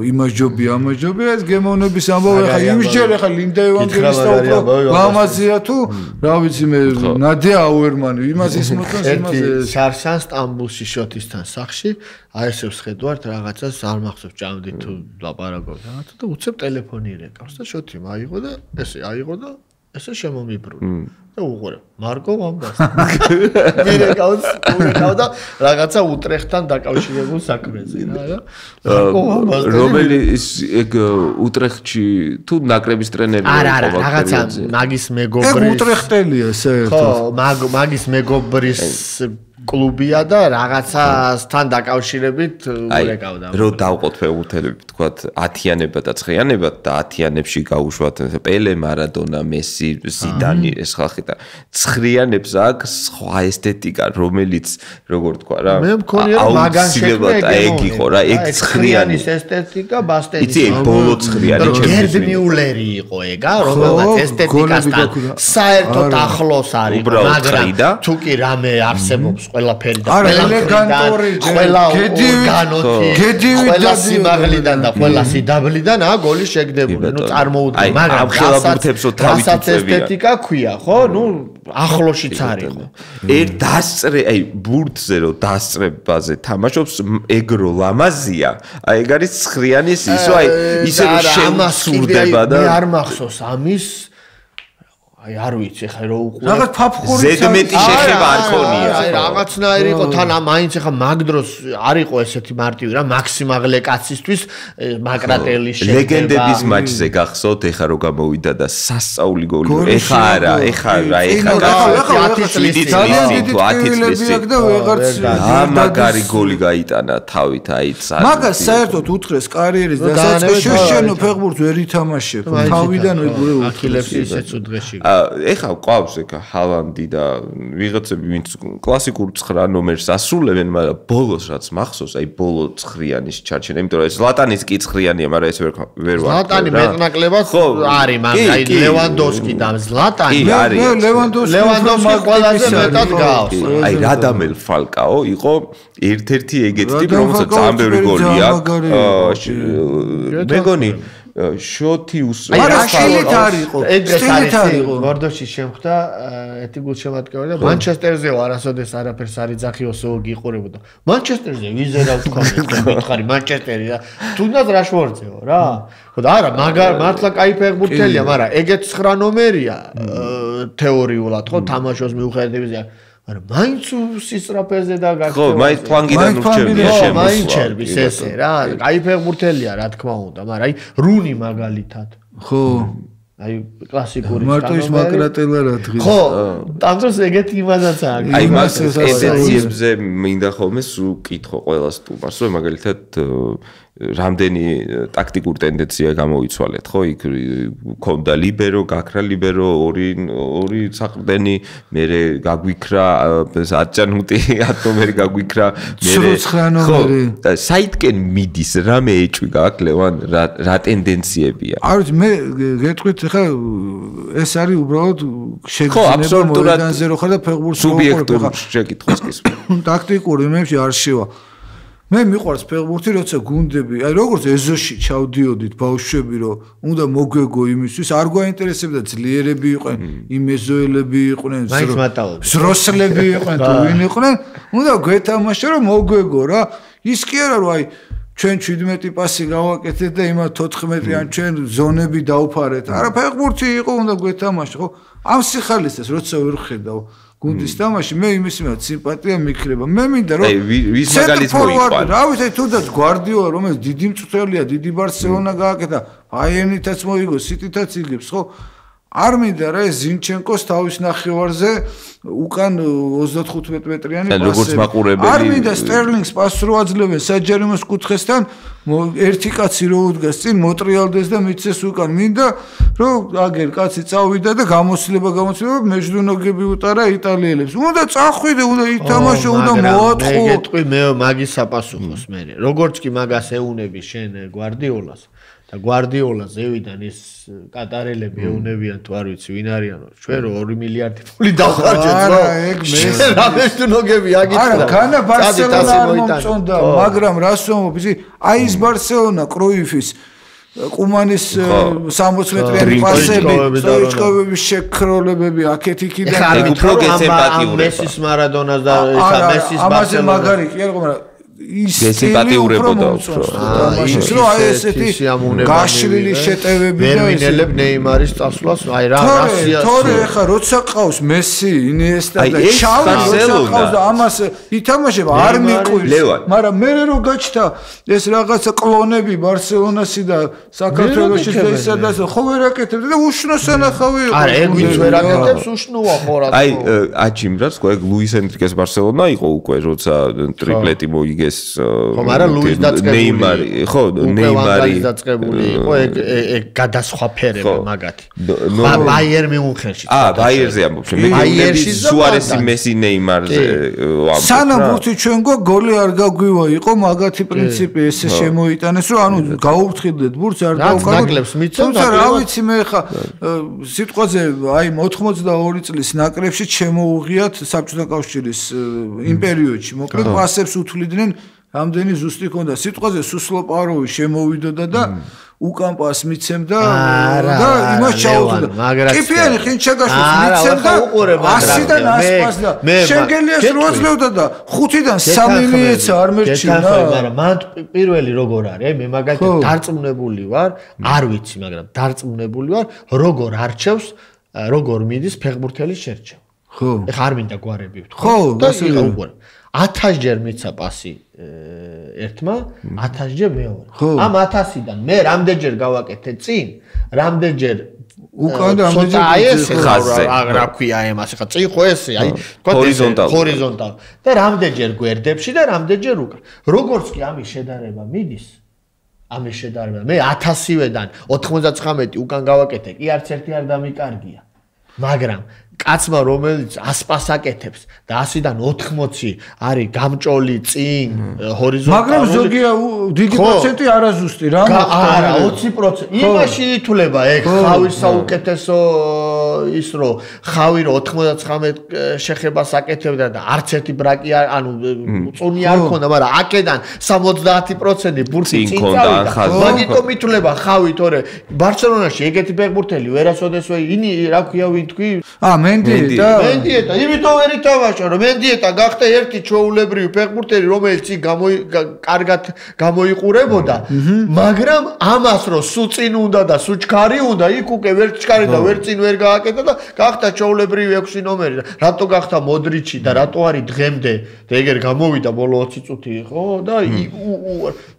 იმაჯობი ამაჯობი ეს გემოვნების ამბავი ხა იმჯერ ხა ლინდა ევანგელისტა უფრო ლამაზია თუ რა ვიცი მე ნადია აუერმანი იმას ის მოწონს იმას შარშან სტამბულში შოთისთან სახში აი ესე ვხედავთ რაღაცას არ მახსოვს ჭამდით თუ ლაპარაკობთ რაღაცა და უცებ ტელეფონი ირეკავს და შოთი მაიღო და ესე აიღო და ესე შემომიბრუნე და უყურე მარკო ვამბასტი მირეკავ და რაღაცა უტრეხტთან დაკავშირებულ საქმეზე რა მარკო ვამბასტი რომელიც ეგ უტრეხტში თუ ნაკრების ტრენერი არა რაღაცა მაგის მეგობრის ეგ უტრეხტელია საერთოდ ხო მაგის მეგობრის კლუბია და რაღაცასთან დაკავშირებით ურეკავდა. რო დავყოთ ფეხბურთელები თქვათ 10-იანებად და 9-იანებად და 10-იანებში გაუშვათ პელე, მარადონა, მესი, ზიდანი ეს ხალხი და 9-იანებს აქვს სხვა ესთეტიკა, რომელიც როგორ თქვა რა. მე მქონია რომ მაგან შექმნა ეგ იყო რა, ეგ 9-იანის ესთეტიკა ბასტენის. იცი ეგ ბოლო 9-იანი გერდ მიულერი იყო ეგა, რომელმაც ესთეტიკასთან საერთოდ ახლოს არის, მაგრამ თუ კი რამე არსებობს ყველაფერი და ელეგანტური ყველა ორგანოთი ყველა სიმაღლიდან და ყველა სიდაბლიდან გოლი შეგდებული ნუ წარმოუდგენ მაგრამ ხელაბურთებსო თავით ესთეტიკა ქვია ხო ნუ ახლოშიც არისო ერთ დასწრე აი ბურთზე რო დასწრებაზე თამაშობს ეგრო ლამაზია აი ეგ არის 9-იანის ისო აი ისე რომ შემსურდება და მე არ მახსოვს ამის აი არ ვიცი ხა რო უყურე რაღაც ფაფხური ზედმეტი შეხება არ ქონია აი რაღაცნაირი იყო თან მაინც ხა მაგ დროს არ იყო ესეთი მარტივი რა მაქსიმალე კაცისთვის მაკრატელის შეება ლეგენდების მატჩზე გახსოვთ ეხა რო გამოვიდა და სასწაული გოლი ეხა რა ეხა 10 წლის და ვეღარც მაგარი გოლი გაიტანა თავით აი მაგას საერთოდ უთხრეს კარიერის დასაწყისში შენო ფეხბურთს ვერ ითამაშებ თავიდან ვიგურე აქილებს ისეც უდღეში ეხა ყავს ეხა ჰალანდი და ვიღაცები ვინც კლასიკურ 9 ნომერს ასრულებენ, მაგრამ ბოლოს რაც მახსოვს, აი ბოლო 9-იანის ჩარჩენა, იმიტომ რომ ზლატანის კი 9-იანია, მაგრამ ეს ვერ ვარ. ზლატანი მეტნაკლებად არის, მაგრამ აი ლევანდოვსკი და ზლატანი ლევანდოვსკი ყველაზე მეტად გავს. აი რადამელ ფალკაო იყო ერთ-ერთი ეგეთი ტიპი, რომელსაც ძალიან ბევრი გოლი აქვს. მეგონი შოთი სტილით არისო სტილით არისო ვარდოში შემხდა ეთი გულშემატკივარი და მანჩესტერზეო არასოდეს არაფერს არ იძახიოსო გიყურებოდა მანჩესტერზე ვიზერა თქვა მითხარი მანჩესტერი და თუნდაც რაშვორდზეო რა ხო და არა მართლა кай ფეხბურთელია მაგრამ ეგეთ 9 ნომერია თეორიულად ხო თამაშოს მიუხედავად არა მაინც სისტრაფეზე და გაქცევა ხო მაინც ფლანგიდან ურჩევია შემოსვლა მაინც ჩერბის ესე რა კაი ფეხბურთელია რა თქმა უნდა მაგრამ აი რუნი მაგალითად ხო აი კლასიკური მარტო ის მაკრატელა რა დღეს ხო ტანძროს ეგეთი იმადაც აქვს აი მას ესეციებზე მინდა ხოლმე სულ კითხო ყველა სტუმარს რომ მაგალითად რამდენი ტაქტიკური ტენდენცია გამოიცვალეთ ხო იქ ქონდა ლიბერო გაქრა ლიბერო ორი საყრდენი მე გაგვიქრა აჭანუტი ატომერი გაგვიქრა მე ხო და საითკენ მიდის რამე ეჭვი გაქვს ლევან რა ტენდენციებია არ ვიცი მე გეტყვით ხა ეს არის უბრალოდ შეგრძნება მოედანზე რო ხარ და ფეხბურთს სუბიექტური შეკითხვის კი ტაქტიკური იმებში არ შევა მე მიყვარს ფეხბურთი, როცა გუნდები, აი როგორც ეზოში ჩავდიოდით ბავშვები, რომ უნდა მოგვეგო იმისთვის, არ გვაინტერესებდა ძლიერები იყვნენ, იმ ეზოელები იყვნენ, ზროსლები იყვნენ, თუ ვინ იყვნენ, უნდა გვეთამაშა რომ მოგვეგო რა. ის კი არა რომ აი ჩვენ 17 პასი გავაკეთეთ და იმათ 14-ან ჩვენ ზონები დავფარეთ. არა, ფეხბურთი იყო, უნდა გვეთამაშა, ხო? ამ სიხალისეს როცა ვერ ხედავ გუნდის თამაში, მე იმის მიმართ სიმპათია მიქრება. მე მინდა რომ ვის მაგალითს მოიყვან. რა ვიცი, თუნდაც გვარდიოლა, რომელიც დიდი მწვრთნელია, დიდი ბარსელონა გააკეთა, ბაიერნითაც მოიგო, სიტითაც იგებს, ხო? არ მინდა რა ეს ზინჩენკოს თავის ნახევარზე უკან 35 მეტრიანი პასი. როგორც მაყურებელი. არ მინდა სტერლინგს პასს რო აძლევენ საჯარიმოს კუთხესთან, ერთი კაცი რო უდგას წინ მოტრიალდეს და მიცეს უკან. მინდა რომ აგერ კაცი წავიდა და გამოცდილება მეჯდუნოგები უტარა იტალიელებს. უნდა წახვიდე, უნდა ითამაშო, უნდა მოაწყო. მე გეტყვი, მე მაგის საპასუხოს მე. როგორც კი მაგას ეუნები შენ გვარდიოლას და გვარდიოლა ზევიდან ის კატარელები ეუნებიან თუ არ ვიცი ვინ არიანო ჩვენ რო 2 მილიარდი ფული დავხარჯეთ რა ეგ მე რა მეშტუნოგები აგიცხდა არა განა ბარსელონა არ მომწონდა მაგრამ რას ვამბობ ისი აი ეს ბარსელონა კროიფის კუმანის 60 მეტრიანი პასები სოიჩკოვების შეკროლებები აქეთ იქიდან ეგ უფრო გესემპათიურება მესის მარადონას და ისა მესის ბარსელონა ამაზე მაგარი კი არა მაგრამ ის გესემპათიურებოდა ის რო აი ესეთი გაშლილი შეტევები და ვერმინელებ ნეიმარის წასვლას აი რა რასია თორე ხა როცა ყავს მესი ინიესტა და შავი როცა ყავს და ამას ითამაშება არ მიყვირს მაგრამ მე რო გაჩნდა ეს რაღაცა კლონები ბარსელონასი და საქართველოში და ისედაც ხო ვერ აკეთებდა და უშნო სანახავი იყო არა ეგ ვინც ვერ აკეთებს უშნოა ხო რა აი აჩიმრას ხო ეგ ლუის ენრიკეს ბარსელონა იყო უკვე როცა ტრიპლეტი მოიგეს ხო მაგრამ ლუის დაწყებული ნეიმარი ხო ნეიმარი დაწყებული იყო ეგ გადასხვაფერება მაგათი ბაიერ მიუნხენში ბაიერზე ამბობ მე ბაიერში სუარესი მესი ნეიმარზე ამბობ სანამ ბურთი ჩვენ გოლი არ გაგვივა იყო მაგათი პრინციპი ესე შემოიტანეს რომ ანუ გაუფრთხილდეთ ბურთს არ დავკარგლებს მიცემ თუმცა რა ვიცი მე ხა სიტყვაზე აი 82 წლის ნაკრებში შემოუღიათ საბჭოთა კავშირის იმ პერიოდში მოკლედ პასებს უთვლიდნენ რამდენი ზუსტი ქონდა სიტყვაზე სუსლოპაროვი შემოვიდოდა და უკან პას მიცემდა და იმას ჩაუდგა კიფიანი ხინჩაგაშვილს მიცემდა 100-დან 100 პას და შენგელიას რო აძლევდა და 5-დან 3 მიეცა არ მერჩინა მაგრამ მან პირველი როგორ არის მე მაგალითად დარწმუნებული ვარ არ ვიცი მაგრამ დარწმუნებული ვარ როგორ არჩევს როგორ მიდის ფეხბურთელის შერჩევა ხო ეხა არ მინდა გვარები ვთქვა ხო და იყო უყურე 1000-ჯერ მიცა პასი ერთმა 1000-ჯერ მეორე. ამ 1000-დან მე რამდენჯერ გავაკეთე წინ, რამდენჯერ უკან და რამდენჯერ აი ეს რა ქვია ამას ხა წინ ხო ესე აი ჰორიზონტალ და რამდენჯერ გვერდებში და რამდენჯერ უკან. როგორც კი ამის შედარება მიდის ამის შედარება მე 1000-ვედან 99 უკან გავაკეთე კი არც ერთი არ დამიკარგია. მაგრამ კაცმა რომელიც 100 პას აკეთებს და 100-დან 80 არის გამჭოლი წინ ჰორიზონტალურად მაგრამ ზოგია დიდი პროცენტი არაზუსტი რა არა 20% იმაში ითვლება ეგ ხავის საუკეთესო ის რო ხავი რო 99 შეხებას აკეთებდა და არც ერთი ბრაკი ანუ წუნი არ ქონდა მაგრამ აქედან 70% ბურთი წინ წავიდა მაგიტომ ითვლება ხავი თორე ბარსელონაში ეგეთი ფეხბურთელი ვერასოდეს ინი რა ქვია ვინ თქვი მენდიეტა იმიტომ ვერ ითამაშა რომ მენდიეტა გახდა ერთი ჩვეულებრივი ფეხბურთელი რომელიც კარგად გამოიყურებოდა მაგრამ ამას რომ სულ წინ უნდა და სულ ჩქარი უნდა იქ უკვე ვერ ჩქარი და ვერ წინ ვერ გააკეთა და გახდა ჩვეულებრივი 6 ნომერი რატო გახდა მოდრიჩი და რატო არის დღემდე და ეგერ გამოვიდა ბოლო 20 წუთი ხო და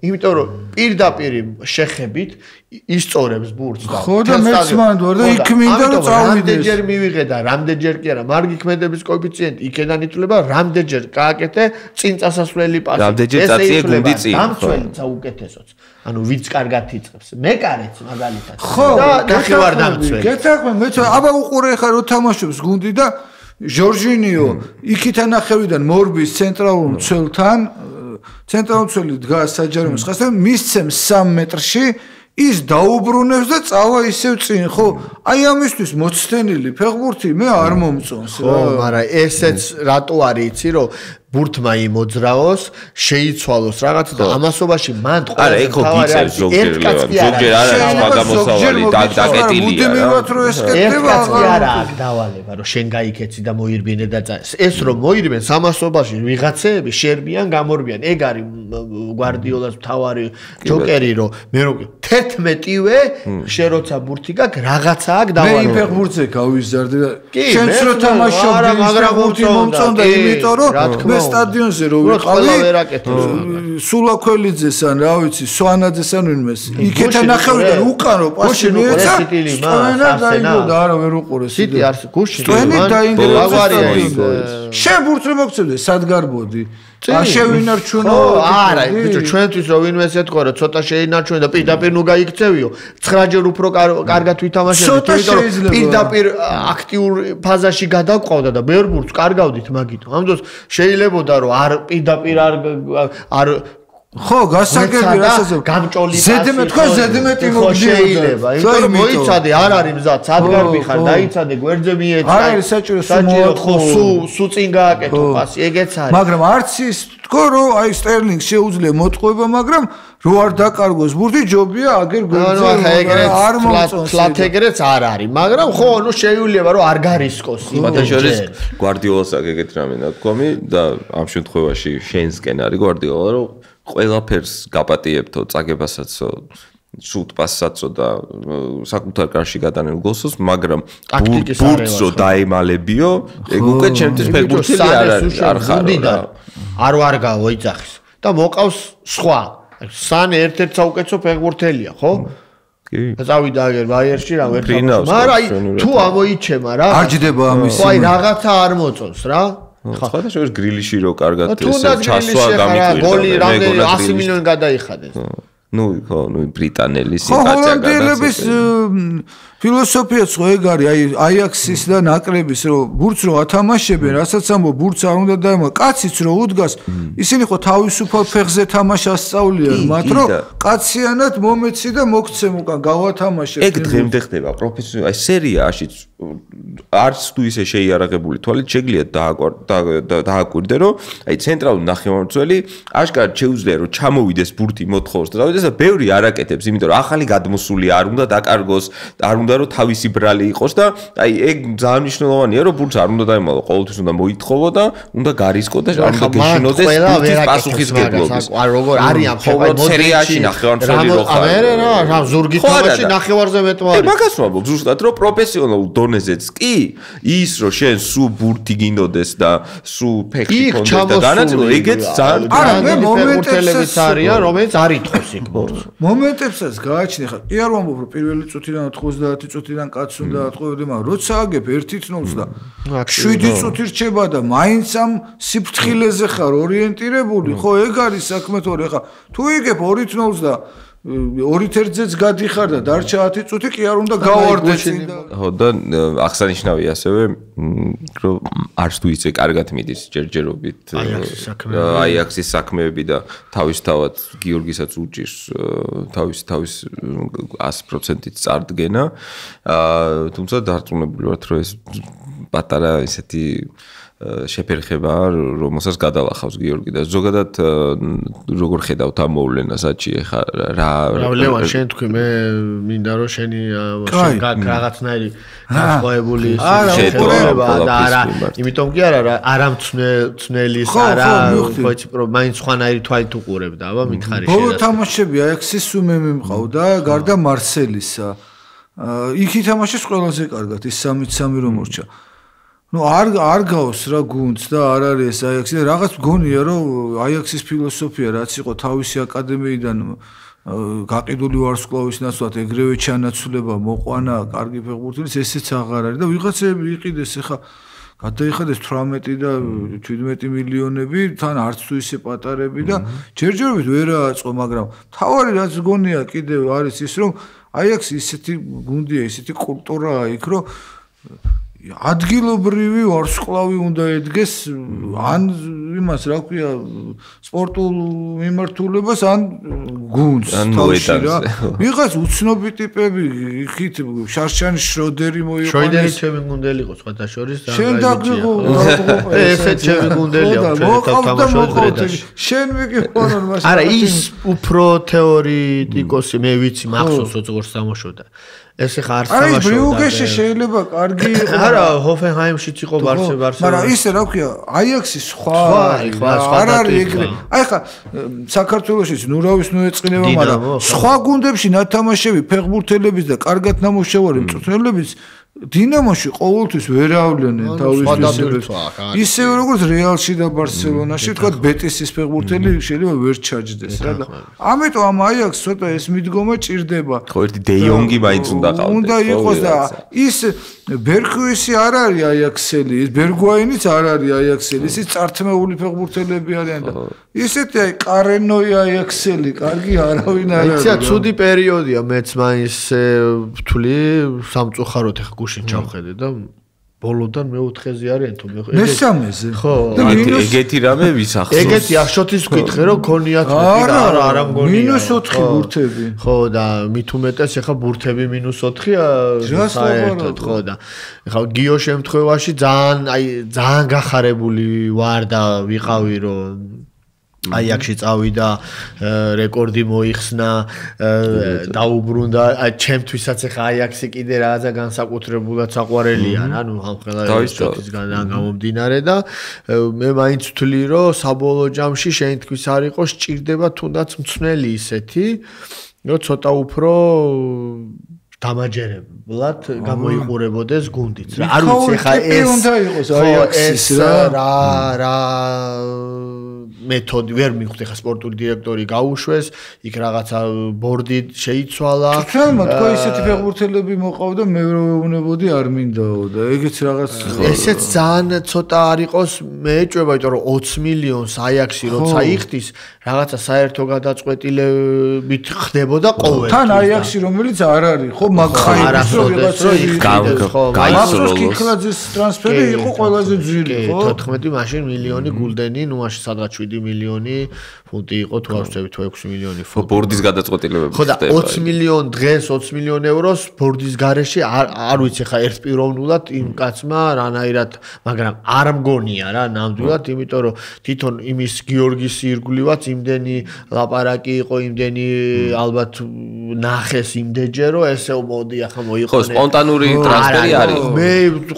იმიტომ რომ პირდაპირ შეხებით ისწორებს ბურთს და ხო და მეც მანდ ვარ და იქ მინდა რომ წავიდეს რამდენჯერ მივიღე და რამდენჯერ კი არა მარგი ქმედების კოეფიციენტი იქიდან ითვლება რამდენჯერ გააკეთე წინ წასასვლელი პასი რამდენჯერ წაწიე გუნდი წინ დამცველიც აუკეთესოც ანუ ვინც კარგად იწევს მეკარეც მაგალითად და ნახევარ დამცველი გეთაქვენ მეც აბა უყურე ხა რო თამაშობს გუნდი და ჟორჟინიო იქიდან ნახევიდან მორბის ცენტრალურ მცველთან ცენტრალურ მცველი დგას საჯარიმოს ხასთან მისცემს 3 მეტრში ის დაუბრუნებს და წავა ისევ წინ ხო აი ამისთვის მოცდენილი ფეხბურთი მე არ მომწონს ხო მაგრამ ესეც რატო არის იცი რომ ბურთმა იმოძრაოს, შეიცვალოს რაღაცა და ამასობაში მან არა, ეგ ხო გიწევს ზოგჯერ არა მაგამოსავალი დაკეტილია რა. ერთკაც კი არა აქ დავალება, რომ შენ გაიქეცი და მოირბინე და ეს რომ მოირბენ სამასობაში ვიღაცეები შერბიან, გამორბიან. ეგ არის გვარდიოლას მთავარი ჯოკერი, რომ მე რო 11-ვე შენ როცა ბურთი გაქვს რაღაცა აქ დავალება. მე იმ ფეხბურთზე გავიზარდე და შენც რო თამაშობდი, მაგრამ ბურთი მომწონდა, იმიტომ რომ მე სტადიონზე რო ვიყავი, სულაქველიძეს ან რა ვიცი, სვანაძეს ან ვინმეს, იქეთა ნახევრიდან უკანო პასი მიეცა, სტვენა დაიგო და არა ვერ უყურეს. სიტი არის გუშინ. სტვენი დაინგრევა შენ ბურთს რო მოგწევდე, სად გარბოდი? შევინარჩუნო არა ბიჭო ჩვენთვის რო ვინმეს ეთქვა რომ ცოტა შეინარჩუნე და პირდაპირ ნუ გაიქცევიო 9 ჯერ უფრო კარგად ვითამაშებდით იმიტომ რომ პირდაპირ აქტიურ ფაზაში გადაყვავდა და ბევრ ბურთს კარგავდით მაგითო ამ დროს შეიძლებოდა რომ არ პირდაპირ არ ხო გასაგები რასაც გამჭოლი ზედმეტ თქვა ზედმეტი შეიძლება იმიტომ რომ მოიცადე არ არის მზად სადგარბი ხარ დაიცადე გვერდზე მიეცა არ არის საჭირო ხო სუ წინ გააკეთო პასი ეგეც არის მაგრამ არც ის თქო რომ აი სტერლინგ შეუძლია მოტყუება მაგრამ რო არ დაკარგოს ბურთი ჯობია აგერ გვერდზე არ მომწონს ფლათეგრეც არ არის მაგრამ ხო ნუ შეიძლება რომ არ გარისკოს ბატონშორის გვარდიოლას აგეგეთ რამე ნათქვამი და ამ შემთხვევაში შენსკენ არის გვარდიოლა რომ ყველაფერს გაპატიებთო წაგებასაცო სულთ პასაცო და საკუთარ კარში გადანელ გოლსოს მაგრამ ბურთსო დაემალებიო ეგ უკვე ჩემთვის ფეხბურთელი არ არის არ ხარო რა არ ვარგავო იცახის და მოყავს სხვა სან ერთ-ერთ საუკეთესო ფეხბურთელია ხო კი წავიდა აგერ ბაიერში რა ვერ ხარ მაგრამ აი თუ ამოიჩემა რა არ ჯდება ამის ხო აი რაღაცა არ მოწონს რა სხვა და შორის გრილიში რო კარგად ჩასვა გამიკვირდა გოლი რამდენი 100 მილიონი გადაიხადეს ნუ ხო ნუ ბრიტანელი სიტუაცია გადაწყდა ფილოსოფიაც ხო ეგ არის აი აიაქსის და ნაკრების რომ ბურთს რო ათამაშებენ რასაც ამბობ ბურთს არ უნდა დაემო კაციც რო უდგას ისინი ხო თავისუფალ ფეხზე თამაშას სწავლიან მათ რომ კაციანად მომეცი და მოგცემ უკან გავათამაშებ ეგ დღემდე ხდება პროფესიონალი აი სერიაშიც არც თუ ისე შეიარაღებული თვალით შეგიძლიათ დააკვირდე რომ აი ცენტრალური ნახევარმცველი აშკარად შეუძლია რომ ჩამოვიდეს ბურთი მოთხოვს და დავიდეს და ბევრი არაკეთებს იმიტომ რომ ახალი გადმოსული არ უნდა დაკარგოს არ უნდა რომ თავისი ბრალი იყოს და აი ეგ ძალიან მნიშვნელოვანია რომ ბურთს არ უნდა დაემალო ყოველთვის უნდა მოითხოვო და უნდა გარისკო და არ უნდა გეშინოდეს ბურთის პასუხისმგებლობის არ როგორ არიან ხოლმე სერიაში ნახევარმცველი რო ხარ რა ზურგი თამაში ნახევარზე მეტმა არის მაგას ვამბობ ზუსტად რომ პროფესიონალურ დონეზეც კი ის რომ შენ სუ ბურთი გინდოდეს და სუ ფეხი კონდეს და განაწილო ეგეც ძალიან არა მე მომენტებსაც არიან რომელიც არ ითხოვს იქ ბურთს მომენტებსაც გააჩნი ხა კი არ ვამბობ რომ პირველი წუთიდან 90 წუთიდან კაც უნდა ატყუებდე მაგრამ როცა აგებ 1-0 და 7 წუთი რჩება და მაინც ამ სიფრთხილეზე ხარ ორიენტირებული ხო ეგ არის საქმე თორე ხა თუ იგებ 2-0 და 2-1-ზეც გადიხარ და დარჩა 10 წუთი კი არ უნდა გავარდე წინ და ხო და აღსანიშნავია ასევე რომ არც თუ ისე კარგად მიდის ჯერჯერობით აიაქსის საქმეები და თავისთავად გიორგისაც უჭირს თავის 100%-ით წარდგენა თუმცა დარწმუნებული ვართ რომ ეს პატარა ისეთი შეფერხება რომელსაც გადალახავს გიორგი და ზოგადად როგორ ხედავთ ამ მოვლენას აჩი ხა რა ლევან შენ თქვი მე მინდა რომ შენი რაღაცნაირი გასწოებული შეფერხება და არა იმიტომ კი არა არამცნელის არა ხოჩი მაინც სხვანაირი თვალით უყურებდა აბა მითხარი შენ ბოლო თამაშები აიაქსის სუმე მიმყავდა გარდა მარსელისა იქ ითამაშეს ყველაზე კარგად ის 3-3 რომ მორჩა ну არ გავს რა გუნდს და არ არის აიაქსი და რაღაც მგონია რომ აიაქსის ფილოსოფია რაც იყო თავისი აკადემიიდან გაყიდული ვარსკვლავის ნაცვლად ეგრევე ჩანაცვლება მოყვანა კარგი ფეხბურთელის ესეც აღარ არის და ვიღაცები იყიდეს ახლა გადაიხადეს 18 და 17 მილიონები თან არც თუ ისე პატარები და ჯერჯერობით ვერ აწყო მაგრამ თავარი რაც მგონია კიდევ არის ის რომ აიაქსი ისეთი გუნდია ისეთი კულტურაა იქ რომ ადგილობრივი ვარსკვლავი უნდა ედგეს ან იმას რა ქვია სპორტულ მიმართულებას ან გუნდს თავში რა ვიღაც უცნობი ტიპები იქით შარშანი შროდერი მოიყვანეს შროდერი ჩემი გუნდელი იყო სხვათა შორის და შენ დაგიღო ესე ჩემი გუნდელია თამაშობდი შენ მიგიყვანონ მას არა ის უფრო თეორიტიკოსი მე ვიცი მახსოვს როგორც თამაშობდა ესე ხარ თამაშობდა არა ბრიუგეში შეიძლება კარგი იყო არა ჰოფენჰაიმშიც იყო ბარსელონა მაგრამ ისე რა ქვია აიაქსი სხვა არ არის ეგრე აი ხა საქართველოშიც ნურავის ნუეწყინება მაგრამ სხვა გუნდებში ნათამაშები ფეხბურთელების და კარგად ნამუშევარი მწვრთნელების დინამოში ყოველთვის ვერ ავლენენ თავის მისებებს. ისევე როგორც რეალში და ბარსელონაში, თქვა ბეტისის ფეხბურთელი შეიძლება ვერ ჩაჯდეს რა და ამიტომ ამ აიაქსს ცოტა ეს მიდგომა ჭირდება. ხო ერთი დე იონგი მაინც უნდა ყავდეს. უნდა იყოს და ის ბერქუისი არ არის აიაქსელი, ის ბერგვაინიც არ არის აიაქსელი, ის წართმეული ფეხბურთელები არიან და ისეთი აი კარენოი აიაქსელი, კარგი არავინ არ არის. იცი, ცუდი პერიოდია მეც მაინც ვთვლი სამწუხაროდ ეხა გუშინ ჩავხედე და ბოლოდან მეოთხეზე არიან თუ მესამეზე ხო ეგეთი რამე ვისახსოვს ეგეთი ახშოთის ვკითხე რომ ქონიათ მეტი და არა მგონია -4 ბურთები ხო და მით უმეტეს ეხა ბურთები -4-ია საერთოდ ხო და ეხა გიო შემთხვევაში ძალიან გახარებული ვარ და ვიყავი რომ აიაქსში წავიდა რეკორდი მოიხსნა დაუბრუნდა ჩემთვისაც ახლა აიაქსი კიდე რაღაცა განსაკუთრებულად საყვარელია რა ნუ ამ ხელისგან გამომდინარე და მე მაინც ვთვლი რომ საბოლოო ჯამში შენ თქვის არ იყოს სჭირდება თუნდაც მცნელი ისეთი რომ ცოტა უფრო დამაჯერებლად გამოიყურებოდეს გუნდიც რა არ ვიცი ხა ეს უნდა იყოს აიაქსის რა მეთოდი ვერ მივხვდი ხა სპორტული დირექტორი გაუშვეს იქ რაღაცა ბორდი შეიცვალა თქმა თქვა ისეთი ფეხბურთელები მოყავდა მე რო ვეუბნებოდი არ მინდაო და ეგეც რაღაც ესეც ძალიან ცოტა არ იყოს მე ეჭვება იმიტომ რომ 20 მილიონს აიაქსი როცა იხდის რაღაცა საერთო გადაწყვეტილებით ხდებოდა ყოველთვის თან აიაქსი რომელიც არ არის ხო მაგხაის რო ვიღაცა გაიცროლოს კიკლაძის ტრანსფერი იყო ყველაზე ძვირი ხო 14 მაშინ მილიონი გულდენი ნუ მაშინ სადღაც 7 მილიონი ფუნტი იყო თუ არ ვწევი თუ 6 მილიონი ხო ბორდის გადაწყვეტილებები ხო და 20 მილიონ დღეს 20 მილიონ ევროს ბორდის გარეშე არ ვიცი ხა ერთპიროვნულად იმ კაცმა რანაირად მაგრამ არ მგონია რა ნამდვილად იმიტომ რომ თვითონ იმის გიორგის ირგვლივაც იმდენი ლაპარაკი იყო იმდენი ალბათ ნახეს იმდენჯერ რომ ესე მოდი ახლა მოიყო ხო სპონტანური ტრანსფერი არის მე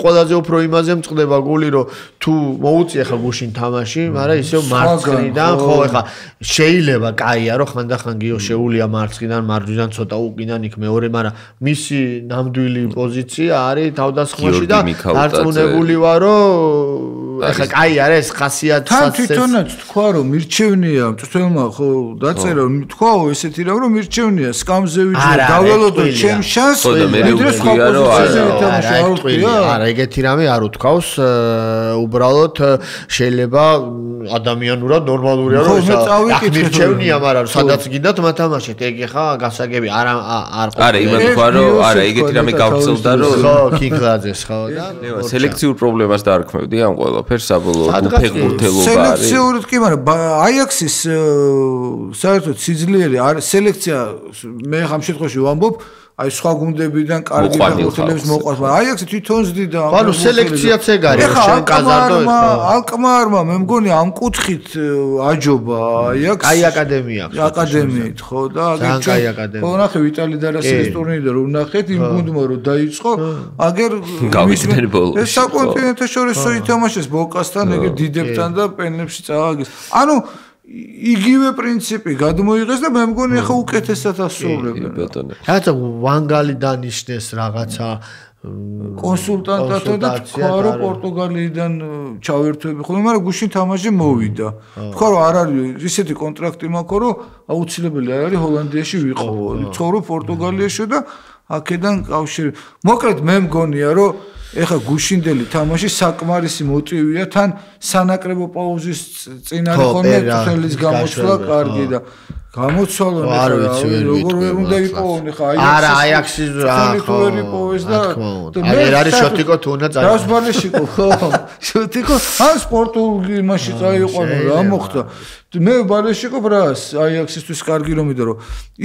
ყველაზე უფრო იმაზე მწყდება გული რომ თუ მოუწი ახლა გუშინ თამაში მაგრამ ისევ მარცხნიდან ხო ახლა შეიძლება კაია რომ ხანდახან გიო შეუულია მარცხნიდან მარჯვნიდან ცოტა უკიდან იქ მეორე მაგრამ მისი ნამდვილი პოზიცია არის თავდასხმაში და დარწმუნებული ვარ რომ ახლა კაი არის ეს ხასიათი თან თვითონაც თქვა რომ მირჩევნია მწვრთნელმა ხო დაწერა თქვაო ესეთი რა რომ მირჩევნია სკამზე ვიჯდა დაველოდო ჩემ შანსს არა ეგეთი რამე არ უთქვავს უბრალოდ შეიძლება ადამიანურად ნორმალურია რომ ეს მირჩევნია მაგრამ სადაც გინდათ მათამაშეთ ეგ ხა გასაგები არა იმან თქვა რომ არა ეგეთი რამე გავწევდა რომ ხო კიკლაძეს ხო და სელექციურ პრობლემას დაარქმევდი ამ ყველაფერს საბოლოოდ ფეხბურთელობა არის სელექციურად კი მაგრამ აიაქსის საერთოდ სიძლიერე არის სელექცია მე ამ შემთხვევაში ვამბობ აი სხვა გუნდებიდან კარგი ფეხბურთელებს მოყვარს მაგრამ აიაქსი თვითონ ზდიდა ანუ სელექციაც ეგ არის შენ კაზარდო ალკმარმა მე მგონი ამ კუთხით აჯობა აიაქსი აი აკადემიით ხო და აგერ ხო ნახე ვიტალი დარასელის ტურნირი და რომ ნახეთ იმ გუნდმა რომ დაიწყო აგერ გავიდნენ ბოლოს ეს საკონტინენტო შორისო ითამაშეს ბოკასთან ეგერ დიდებთან და პენლებში წავაგეს ანუ იგივე პრინციპი გადმოიღეს და მე მგონი ახლა უკეთესად ასრულებენ. რაღაცა ვანგალი დანიშნეს რაღაცა კონსულტანტად და თქვა რომ პორტუგალიიდან ჩავერთვები ხოლმე, მაგრამ გუშინ თამაში მოვიდა. თქვა რომ არ არის ისეთი კონტრაქტი მაქვს რომ აუცილებელი არ არის ჰოლანდიაში ვიყავო. ცხოვრობ პორტუგალიაში და აქედან კავშირი. მოკლედ მე მგონია რომ ეხა გუშინდელი თამაში საკმარისი მოტივია თან სანაკრებო პაუზის წინ არის ხოლმე წელს გამოსვლა კარგი და გამოცვალონ არ ვიცი ვერ როგორ ვერ უნდა იპოვონ ხა არა აიაქსის ხო ვერ იპოვეს და არ არის შოტიკო თუ უნდა წაიღო რას ბალეშიკო ხო შოტიკო ან სპორტულ იმაში წაიყვანო რა მოხდა მე ბალეშიკო ბრას აიაქსისთვის კარგი რომ მიდო რომ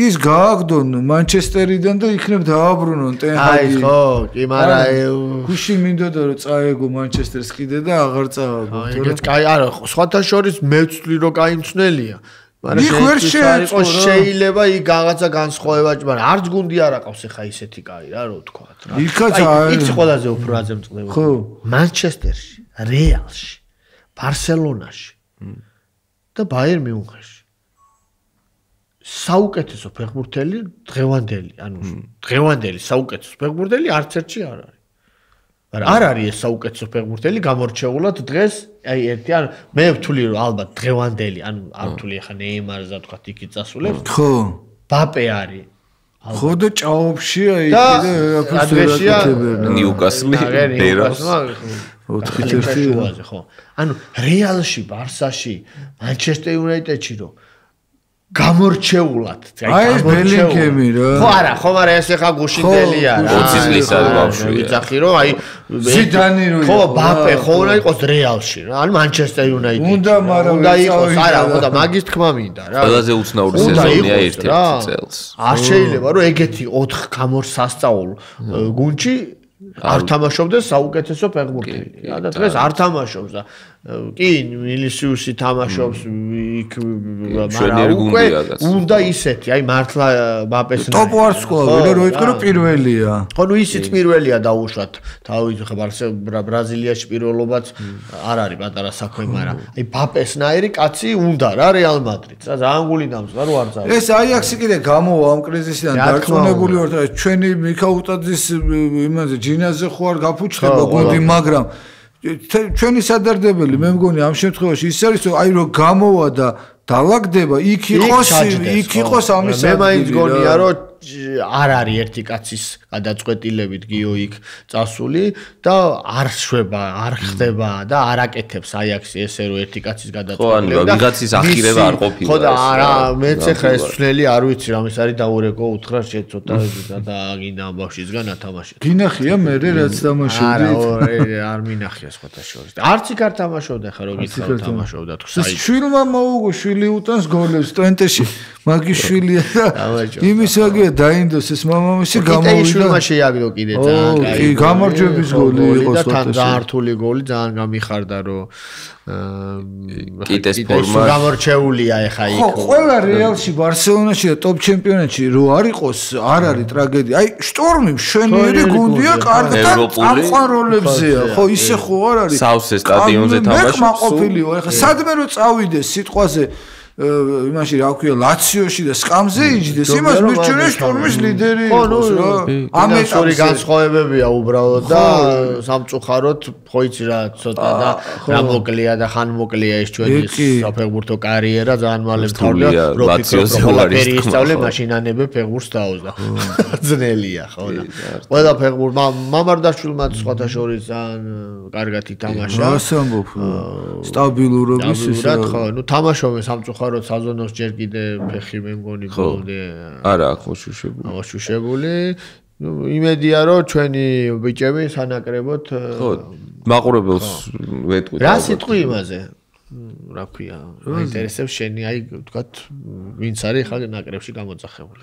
ის გააგდონ მანჩესტერიდან და იქნებ დააბრუნონ ტენჰაგი აი ხო კი მაგრამ გუში მინდოდა რომ წაეგო მანჩესტერს კიდე და აღარ წააგო ეგეც კაი არა სხვათა შორის მე ვცვლი რომ კაი მწნელია მაგრამ შეიძლება იქ რაღაცა განსხვავება მაგრამ არც გუნდი არ აყავს ახლა ისეთი კაი რა ვთქვათ რა იქ ყველაზე უფრო აზემწყდება ხო მანჩესტერში რეალში ბარსელონაში და ბაიერ მიუნხენში საუკეთესო ფეხბურთელი დღევანდელი ანუ დღევანდელი საუკეთესო ფეხბურთელი არც ერთში არ არის მაგრამ არ არის ეს საუკეთესო ფეხბურთელი გამორჩეულად დღეს აი ერთი ანუ მე ვთვლი რომ ალბათ დღევანდელი ანუ არ ვთვლი ახლა ნეიმარს და თქვა იქით წასულებს ხო ბაპე არის ხო და ჭაობში აი კიდე ადრესია ნიუკასლი ბერას 4-1 ხო ანუ რეალში ბარსაში მანჩესტერ იუნაიტედში რომ გამორჩეულად აი ბელინგემი რა ხო არა ხო მაგრამ ეს ახლა გუშინდელია რა 20 წლისა ბავშვია ვიცახი რომ აი ზიდანი რო ხო ბაპე ხო უნდა იყოს რეალში რა ანუ მანჩესტერ იუნაიტედში უნდა მაგრამ უნდა იყოს არა უნდა მაგის თქმა მინდა რა ყველაზე უცნაური სეზონია ერთ-ერთი წელს არ შეიძლება რომ ეგეთი 4 გამორ სასწაულ გუნდში არ თამაშობდეს საუკეთესო ფეხბურთელი რა და დღეს არ თამაშობს და კი მილისიუსი თამაშობს იქ მაგრამ უკვე უნდა ისეთი აი მართლა ბაპეს ტოპ ვარ სკოლა რო იტყვი რომ პირველია ხო ნუ ისიც პირველია დაუშვათ თავის ხა ბრაზილიაში პირველობაც არ არის პატარა საქმე მაგრამ აი ბაპესნაირი კაცი უნდა რა რეალ მადრიდს რა ძალიან გული დამწვა რო არ წავა ეს აიაქსი კიდე გამოვა ამ კრიზისიდან დარწმუნებული ვარ და ჩვენი მიქაუტაძის იმაზე ჯინაზე ხო არ გაფუჩდება გუნდი მაგრამ ჩვენი სადარდებელი მე მგონი ამ შემთხვევაში ის არის რომ აი რომ გამოვა და დალაგდება იქ იყოს ამის მე მაინც გონია რომ არ არის ერთი კაცის გადაწყვეტილებით გიო იქ წასული და არ შვება არ ხდება და არ აკეთებს აიაქსი ესე რომ ერთი კაცის გადაწყვეტილებით ხო ანუ ვიღაცის ახირება არ ყოფილა ხო და არა მეც ახლა ეს სვლელი არ ვიცი რამის არის დაურეკო უთხრა შეცოტა და გინდა ამ ბავშვისგან ათამაშეთ გინახია მე რაც თამაშობდი არა არ მინახია სხვათა შორის არც იქ არ თამაშობდა ხა რომ იცავ თამაშობდა თუ საერთოდ შვილმა მოუგო შვილი უტანს გოლებს ტვენტეში მაგის შვილია და იმის ვაგია დაინდოს ეს მამამისი გამოვიდა. შვილმა შეაგდო კიდე ძალიან კაი. კი, გამარჯვების გოლი იყო და თან დაართული გოლი ძალიან გამიხარდა რომ კიტეს ფორმა გამორჩეულია ეხა იქ. ხო, ყველა რეალში ბარსელონაში და ტოპ ჩემპიონატში რო არ იყოს, არ არის ტრაგედია. აი, შტორმი მშვენიერი გუნდია, კარგად ამყაროლებზეა. ხო, ისე ხო არ არის. სავსე სტადიონზე თამაშობს. მე ყოფილი ვარ, ეხა სადმე რო წავიდეს სიტყვაზე იმაში რა ქვია ლაციოში და სკამზე იჯდეს იმას მირჩენია შტორმის ლიდერი იყოს რა ამ ეტაპზე განსხვავებებია უბრალოდ და სამწუხაროდ ხო იცი რა ცოტა და რა მოკლია და ხან მოკლია ეს ჩვენი საფეხბურთო კარიერა ძალიან მალე მთავრია ლაციოზე ვარი ისწავლე მაშინანებე ფეხბურთს დაუძდა ძნელია ხო და ყველა ფეხბურთმა მამარდაშვილმა სხვათა შორის ძალიან კარგად ითამაშა რას ამბობ სტაბილურობის ისე ხო ნუ თამაშობენ სამწუხაროდ რო საზონოს ჯერ კიდე ფეხი მე მგონი ბოლომდე არა აქვს მოშუშებული. მოშუშებული. ნუ იმედია რომ ჩვენი ბიჭები სანაკრებოდ ხო მაყურებელს ვეტყვით. რა სიტყვი იმაზე? რა ქვია? ინტერესებს შენი აი ვთქვათ ვინც არის ხალხი ნაკრებში გამოძახებული.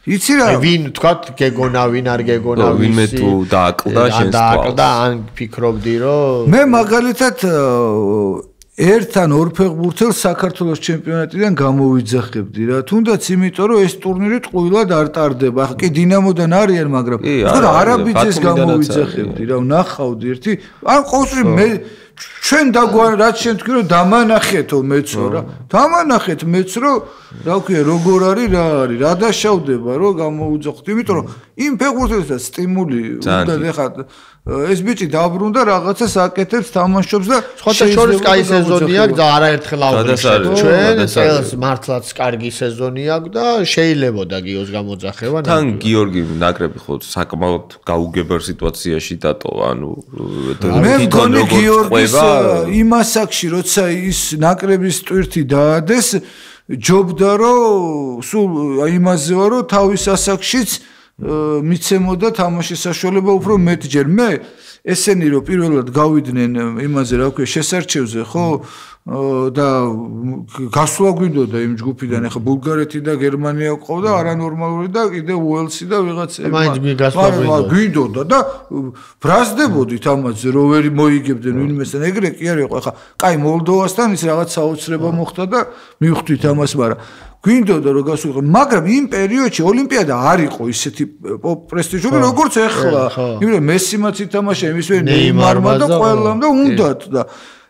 იცი რა? ვინ ვთქვათ გეგონა ვინ არ გეგონა ვინმე თუ დააკლდა შენს თვალს. დააკლდა ან ფიქრობდი რომ მე მაგალითად ერთთან ორ ფეხბურთელს საქართველოს ჩემპიონატიდან გამოვიძახებდი რა. თუნდაც იმიტომ რომ ეს ტურნირი ტყუილად არ ტარდება. ახლა კი დინამოდან არიან, მაგრამ არაბიძეს გამოვიძახებდი რა. ვნახავდი ერთი. ან ყოველთვის მე ჩვენ დაგვარ რაც შენ თქვი რომ დამანახეთო მეცო რა. დამანახეთ მეც რომ რა ქვია როგორ არის რა არის. რა დაშავდება რომ გამოვიძახოთ. იმიტომ რომ იმ ფეხბურთელსაც სტიმული უნდა ეხა ეს ბიჭი დაბრუნდა რაღაცას აკეთებს თამაშობს და სხვათა შორის კაი სეზონი აქვს და არაერთხელ აღვნიშნეთ ჩვენ წელს მართლაც კარგი სეზონი აქვს და შეიძლებოდა გიოს გამოძახება თან გიორგი ნაკრები ხო საკმაოდ გაუგებარ სიტუაციაში დატოვა ანუ მე მგონი გიორგის იმ ასაკში როცა ის ნაკრების ტვირთი დაადეს ჯობდა რომ სულ იმაზე ვარ რომ თავის ასაკშიც მიცემოდა თამაშის საშუალება უფრო მეტჯერ მე ესენი რომ პირველად გავიდნენ იმაზე რა ქვია შესარჩევზე ხო და გასვლა გვინდოდა იმ ჯგუფიდან ახლა ბულგარეთი და გერმანია ყავდა არანორმალური და კიდე უელსი და ვიღაცები მაგრამ გვინდოდა და ბრაზდებოდით ამაზე რომ ვერ მოიგებდნენ ვინმესთან ეგრე კი არ იყო ახლა კაი მოლდოვასთან ის რაღაც საოცრება მოხდა და მივხვდით ამას მაგრამ გვინდოდა რომ გასულიყო მაგრამ იმ პერიოდში ოლიმპიადა არ იყო ისეთი პრესტიჟული როგორც ახლა იმიტომ მესიმაც ითამაშა იმისვე ნეიმარმა და ყველამ და უნდათ და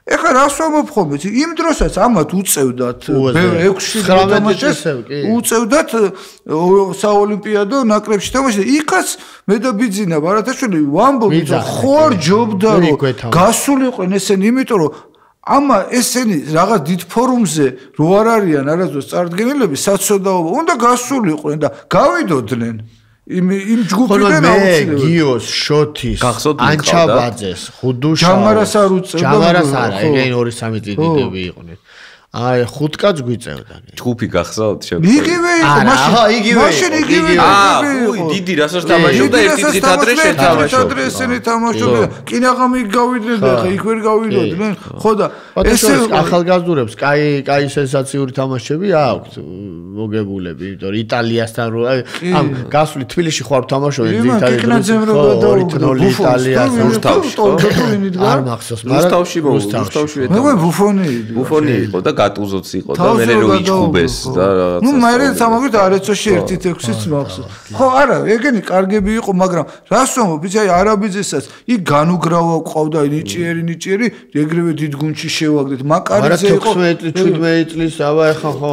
ეხლა რას ვამოფხობთ იმ დროსაც ამათ უწევდათ 6-7 თამაშეს უწევდათ საოლიმპიადო ნაკრებში თამაში იქაც მე და ბიძინა ბარათაშვილი ვამბობთ ხო არ ჯობდა რომ გასულიყვნენ ესენი იმიტომ რომ ამა ესენი რაღაც დიდ ფორუმზე რო არ არიან არასდროს წარდგენილები საცოდაობა უნდა გასულიყვნენ და გავიდოდნენ იმ ჯგუფიდან აუცილებლად გიოს შოთის ანჩაბაძეს ხუდუშა ჯამარას არ უწევდა ჯამარას არა ეგენ 2-3 დიდები იყვნენ აი ხუთკაც გვიწევდა ჯგუფი გახსოვთ იგივე იყო მაშინ იგივე იყო დიდი რასაც თამაშობდა ერთი დღით ადრე შეთამაშობდა ესენი თამაშობდა კინაღამი გავიდნენ და ხა იქ ვერ გავიდოდნენ ხო და ესე ახალგაზრდებს კაი სენსაციური თამაშები აქვთ მოგებულები იმიტომ რომ იტალიასთან რო ამ გასული თბილისში ხوار თამაშობენ ძირითადად იტალიას რუსთავში არ მახსოვს მაგრამ რუსთავში მე ბუფონი იყო და გატუზოც იყო და მე რო იჭუბეს და რაღაცა. ნუ მე სამაგით არეცოში 1-6-იც მახსოვს. ხო, არა, ეგენი კარგები იყო, მაგრამ რას ვამბობ, იცი, არაბიძესაც იქ განუგრავა ყავდა ნიჭიერი, ეგრევე დიდ გუნდში შევაგდეთ. მაკარიძე იყო 16-17 წლის, აბა ეხა ხო.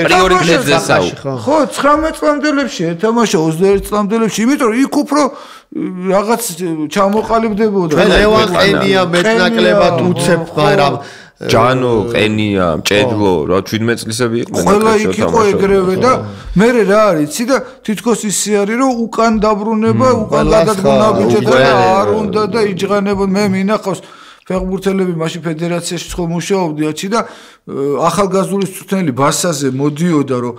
პრიორიტეტზე საუბარი. ხო, 19 წლამდელებში ეთამაშა 21 წლამდელებში, იმიტომ რომ იქ უფრო რაღაც ჩამოყალიბდებოდა. ლევან ყენია მეტნაკლებად უცებ, მაგრამ ჯანო, ყენია, მჭედლო, რა 17 წლისები იყვნენ. ყველა იქ იყო ეგრევე და მე რა არის, იცი და თითქოს ისე არის რომ უკან დაბრუნება, უკან გადადგონა ბიჭეთა და არ უნდა და იჯღანებოდ მე მინახავს ფეხბურთელები მაშინ ფედერაციაში ხო მუშაობდი აჩი და ახალგაზრდული წვრთნელი ბასაზე მოდიოდა რომ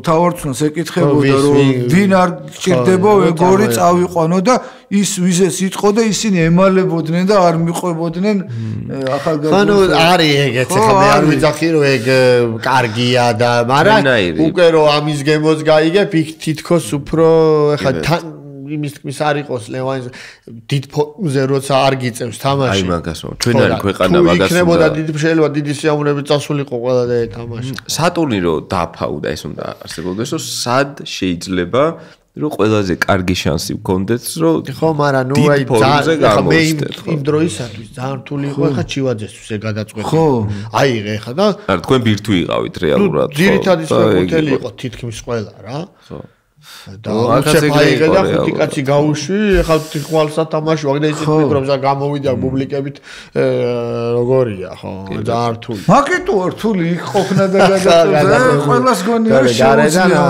თავარწუნს ეკითხებოდა რომ ვინ არ გჭირდება ეგორი წავიყვანო და ის ვიზეს იტყო და ისინი ემალებოდნენ და არ მიყვებოდნენ ახალგაზრდულს. ანუ არის ეგეც ხა მე არ ვიძახი რომ ეგ კარგია და მაგრამ უკვე რომ ამის გემოს გაიგებ იქ თითქოს უფრო ხა იმის თქმის არ იყოს ლევანის დიდ ფონზე როცა არ გიწევს თამაში. აი მაგას ვამბობ. ჩვენ არის ქვეყანა მაგას. იქნებოდა დიდი შეიძლება დიდი სიამოვნებით წასულიყო ყველა და ეთამაში. სატურნირო დაფაუდა ეს უნდა არსებობდეს რომ სად შეიძლება რომ ყველაზე კარგი შანსი გქონდეთ რომ ხო მაგრამ ნუ აი ძალიან მე იმ დროისათვის ძალიან რთული იყო ხა ჩივაძესთვის ეგ გადაწყვეტა. ხო. აიღე ხა და არა თქვენ ბირთვი იყავით რეალურად. ძირითადი ფეხბურთელი იყო თითქმის ყველა რა. ხო. და უცებ აიღე და ხუთი კაცი გაუშვი, ხა თვალსა თამაში ვაგდა ისეთ მიკროფონს და გამოვიდა პუბლიკებით როგორია ხო ძალიან რთული. მაგიტო რთული იქ ყოფნა და გადაწყვეტა ყველას გონია შეუძლია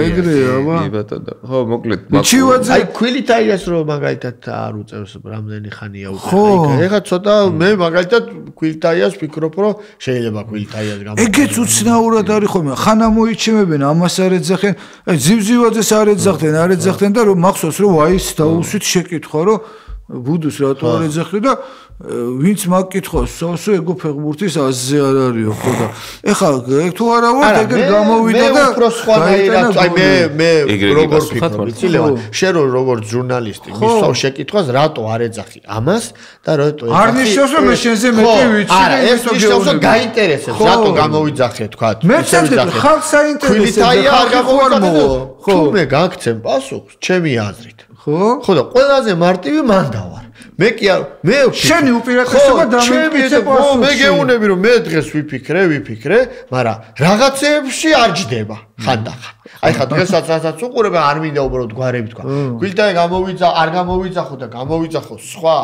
ეგრეა აბა. კი ბატონო. ხო მოკლედ ჩივაძე აი ქვილითაიას რო მაგალითად არ უწევს რამდენი ხანია უკვე. ეხა ცოტა მე მაგალითად ქვილითაიას ვფიქრობ რომ შეიძლება ქვილითაიას გამო. ეგეც უცნაურად არის ხოლმე. ხანა მოიჩემებენ ამას არ ეძახენ. აი ზივზივაძეს არ ეძახდნენ და რომ მახსოვს რომ აი ეს დაუსვით შეკითხვა რომ ბუდუს რატო არ ეძახი და ვინც მაგკითხავს სავსო ეგო ფეხბურთის აზზე არ არისო ხო და ეხლა ეგ თუ არა ვარ ეგრე გამოვიდა და უფრო სხვანაირად აი მე როგორ ვფიქრობ იცი ლევან შენ როგორც ჟურნალისტი მისვავ შეკითხვას რატო არ ეძახი ამას და რატო ეძახი არ ნიშნავს რომ მე შენზე მეტი ვიცი არა ეს ნიშნავს რომ გაინტერესებს რატო გამოვიძახე თქვა მე წამდი ხალხს საინტერესებს და არ გამოვიძახე თუ მე გაგცემ პასუხს ჩემი აზრით ხო და ყველაზე მარტივი მან დავარ მე კი არ მე შენი უპირატესობა დამიმტკიცე პასუხში მე გეუნები რომ მე დღეს ვიფიქრე მაგრამ რაღაცეებში არ ჯდება ხანდახან აი ხა დღესაც რასაც უყურებ არ მინდა უბრალოდ გვარები თქვა გვილდაი არ გამოვიძახო და გამოვიძახო სხვა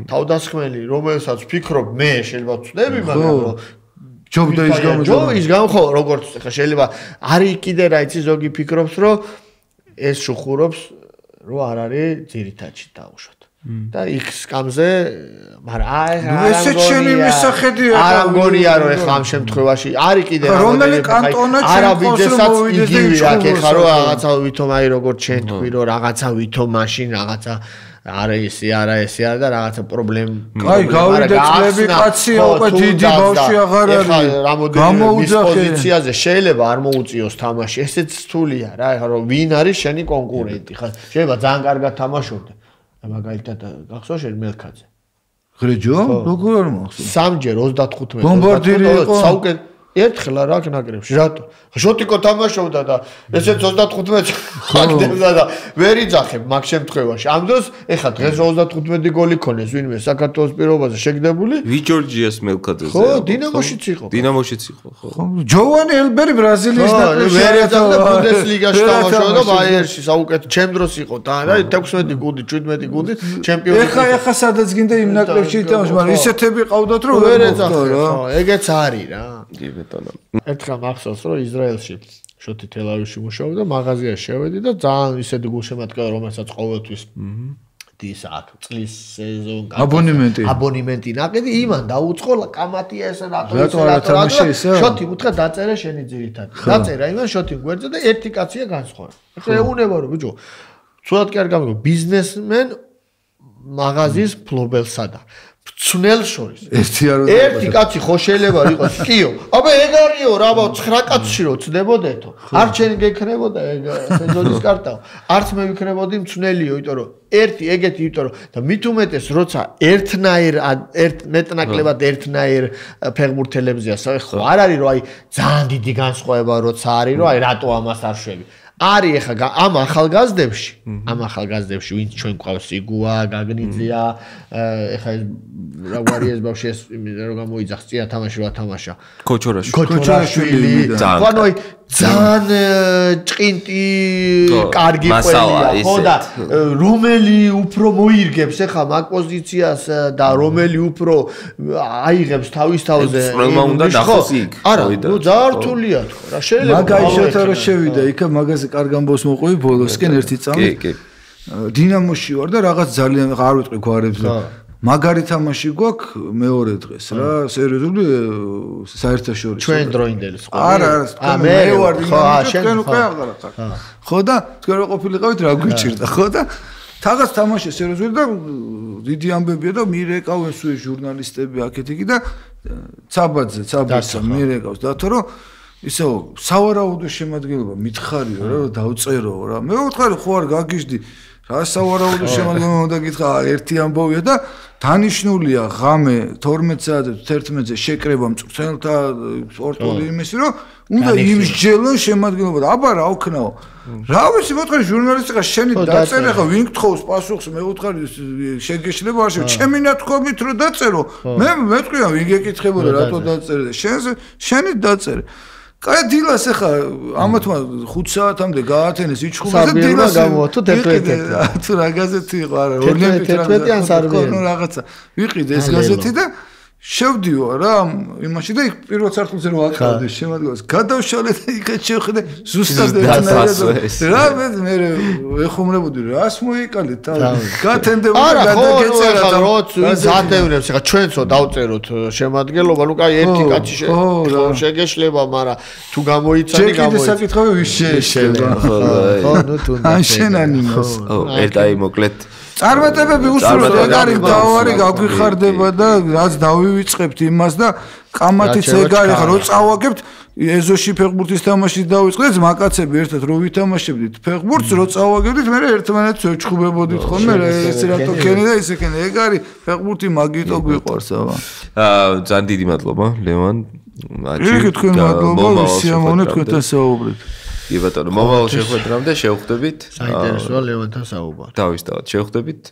თავდასხმელი რომელსაც ვფიქრობ მე შეიძლება ვწდები მაგრამ რომ ჯობდა ის ხო როგორც ხა შეიძლება არის კიდე რა იცი ზოგი ფიქრობს რომ ეს შუხურობს რომ არ არის ძირითადში დაუშვათ. და X კამზე, მაგრამ ესეც შენი მისახედია. არ მგონია რომ ეხლა ამ შემთხვევაში არის კიდე რომელი კანტონა არაბიძესაც იგივე აქ ეხლა რომ რაღაცა ვითომ აი როგორც შენ თქვი რომ რაღაცა ვითომ მაშინ რაღაცა არა ესე არა და რაღაცა პრობლემა. აი გავიდა წლები კაცია უკვე დიდი ბავშვი აღარ არის. გამოუძახე პოზიციაზე შეიძლება არ მოუწიოს თამაში. ესეც რთულია რა, ეხლა რომ ვინ არის შენი კონკურენტი ხა. შეიძლება ძალიან კარგად თამაშობდა. მაგალითად გახსოვს შენ მელქაძე. ღრეჯო? როგორ არ მახსოვს? სამჯერ 35 ბომბარდირი იყო. საუკეთ ერთხელ რა ნაკრებში რატო? შოტიკო თამაშობდა და ესეც 35 ხაგდებდა და ვერ იძახებ მაგ შემთხვევაში. ამ დროს ეხლა დღეს 35 გოლი ქონეს ვინმე საქართველოს პირობაზე შეგდებული? ვიჯორჯიას მელქაძეზე. ხო, დინამოშიც იყო. დინამოშიც იყო, ხო. ჯოვანი ელბერი ბრაზილიის ნაკრებში ვერ ეძახდა ბუნდესლიგაში თამაშობდა ბაიერში საუკეთ ჩემ დროს იყო და 16 გუნდი 17 გუნდი ჩემპიონი. ეხა სადაც გინდა იმ ნაკრებში ითამაშა, მაგრამ ისეთები ყავდათ რომ ვერ ეძახდა რა. ეგეც არის რა. კი ბეტონო. ერთხელ მახსოვს რომ ისრაელში შოთი თელ-ავივში მუშაობდა, მაღაზიაში შევედი და ძალიან ისეთი გულშემატკივარი რომელსაც ყოველთვის დის აქ წლის სეზონ აბონემენტი ნაკედი იმან დაუწყო კამათია ესე რატო შოთი უთხრა დაწერე შენი ძირითად დაწერა იმან შოთი გვერდზე და ერთი კაცია განსხვავდა. ეხლა ეუნება რომ ბიჭო ცუდად კი არ გამიგო ბიზნესმენ მაღაზიის ფლობელსა და ცნელ შორის ერთი კაცი ხო შეიძლება იყოს კიო აბა ეგ არისო რა 9 კაცში რო ცდებოდეთო არ ჩემი გექნებოდა ეგ სეზონის კარტაო არც მე ვიქნებოდი მცნელიო იმიტომ რომ ერთი ეგეთი იმიტომ რომ და მით უმეტეს როცა ერთნაირ მეტნაკლებად ერთნაირ ფეხბურთელებზეა ხო არ არის რომ აი ძალიან დიდი განსხვავება როცა არის რომ აი რატო ამას არ შვები არის ეხა ამ ახალგაზრდებში ვინც ჩვენ გვყავს სიგუა, გაგნიძია, ეხა ეს რა ვარიეს ბავშვი ეს რომ გამოიძახს წია თამაში რა თამაშა. ქოჩორაშვილი. ანუ აი ძალიან ჭყინტი კარგი ყველია, ხო და რომელი უფრო მოირგებს ეხა მაგ პოზიციას და რომელი უფრო აიღებს თავის თავზე. პრობლემა უნდა დახოს იქ. არა, ნუ ძალიან რთულია თქო რა შეიძლება. მაგაიშოთა რომ შევიდა იქა მაგაზე კარგ ამბავს მოყვი ბოლოსკენ ერთი წამი. კი. დინამოში ვარ და რაღაც ძალიან არ ვიტყვი გვარებს და მაგარი თამაში გვაქვს მეორე დღეს რა სერიოზული საერთაშორისო ჩვენ დროინდელი სხვა არა მე ვარ შენ უკვე აღარ ხარ ხო და თქვენ რო ყოფილიყავით რა გვიჭირდა ხო და თაღაც თამაში სერიოზული და დიდი ამბებია და მირეკავენ სულ ჟურნალისტები აქეთ იქ და ცაბაძე მირეკავს დათო რომ ისო სავარაუდო შემადგენლობა მითხარიო რა რომ დავწერო რა მე ვუთხარი ხო არ გაგიჟდი რა სავარაუდო შემადგენლობა უნდა გითხრა ერთი ამბოვია და დანიშნულია ღამე 12 საათზე 11-ზე შეკრება მწვრთნელთა სპორტული იმისი რომ უნდა იმსჯელონ შემადგენლობა და აბა რა ვქნაო რა ვიცი მოთხარი ჟურნალისტი ხარ შენი დაწერე ხა ვინ გთხოვს პასუხს მე ვუთხარი შეგეშლება არ შევ ჩემი ნათქვამით რომ დაწერო მე მეთქვია ვინ გეკითხებოდა რატო დაწერე შენი დაწერე კაი დილას ახლა ამათმა 5 საათამდე გაათენეს იჩხუბეს და დილას გამოვთო 11 თუ რა გაზეთი იყო არა 11 ან სარბია რაღაცა ვიყიდე ეს გაზეთი და შევდიო რა იმაში და იქ პირველ სართულზე რო აკრავდი შემოდგას გადავშალე და იქაც შევხედე ზუსტად რა მე ეხუმრებოდი რას მოიკალე თავი გათენდებოდა გადაგეწერა და როც ზადევნებს ხა ჩვენცო დავწეროთ შემადგენლობა ნუ კაი ერთი კაცი შეგეშლება მაგრამ თუ გამოიცანი გამოიცანი საკითხავე ვის შეეშლება ხო ნუ თუ ან შენანიმას ერთაი მოკლედ წარმატებები უსურვოთ ეგ არის დავარი გაგვიხარდება და რაც დავივიწყებთ იმას და კამათიც ეგ არის ხა რო წავაგებთ ეზოში ფეხბურთის თამაში დავიწყდეთ მაკაცები ერთად რო ვითამაშებდით ფეხბურთს რო წავაგებდით მე ერთმანეთს ვეჩხუბებოდით ხოლმე ეს რატო ქენი და ისე ქენი ეგ არის ფეხბურთი მაგიტო გვიყვარს აბა ძალიან დიდი მადლობა ლევან მაჩი თქვენ მადლობა სიამოვნე თქვენთან საუბრით კი ბატონო მომავალ შეხვედრამდე შევხვდებით საინტერესოა ლევანთან საუბარი დავისდავთ შევხვდებით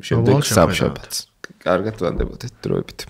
შემდეგ სამშაბათს კარგად ვანდებოდეთ დროებით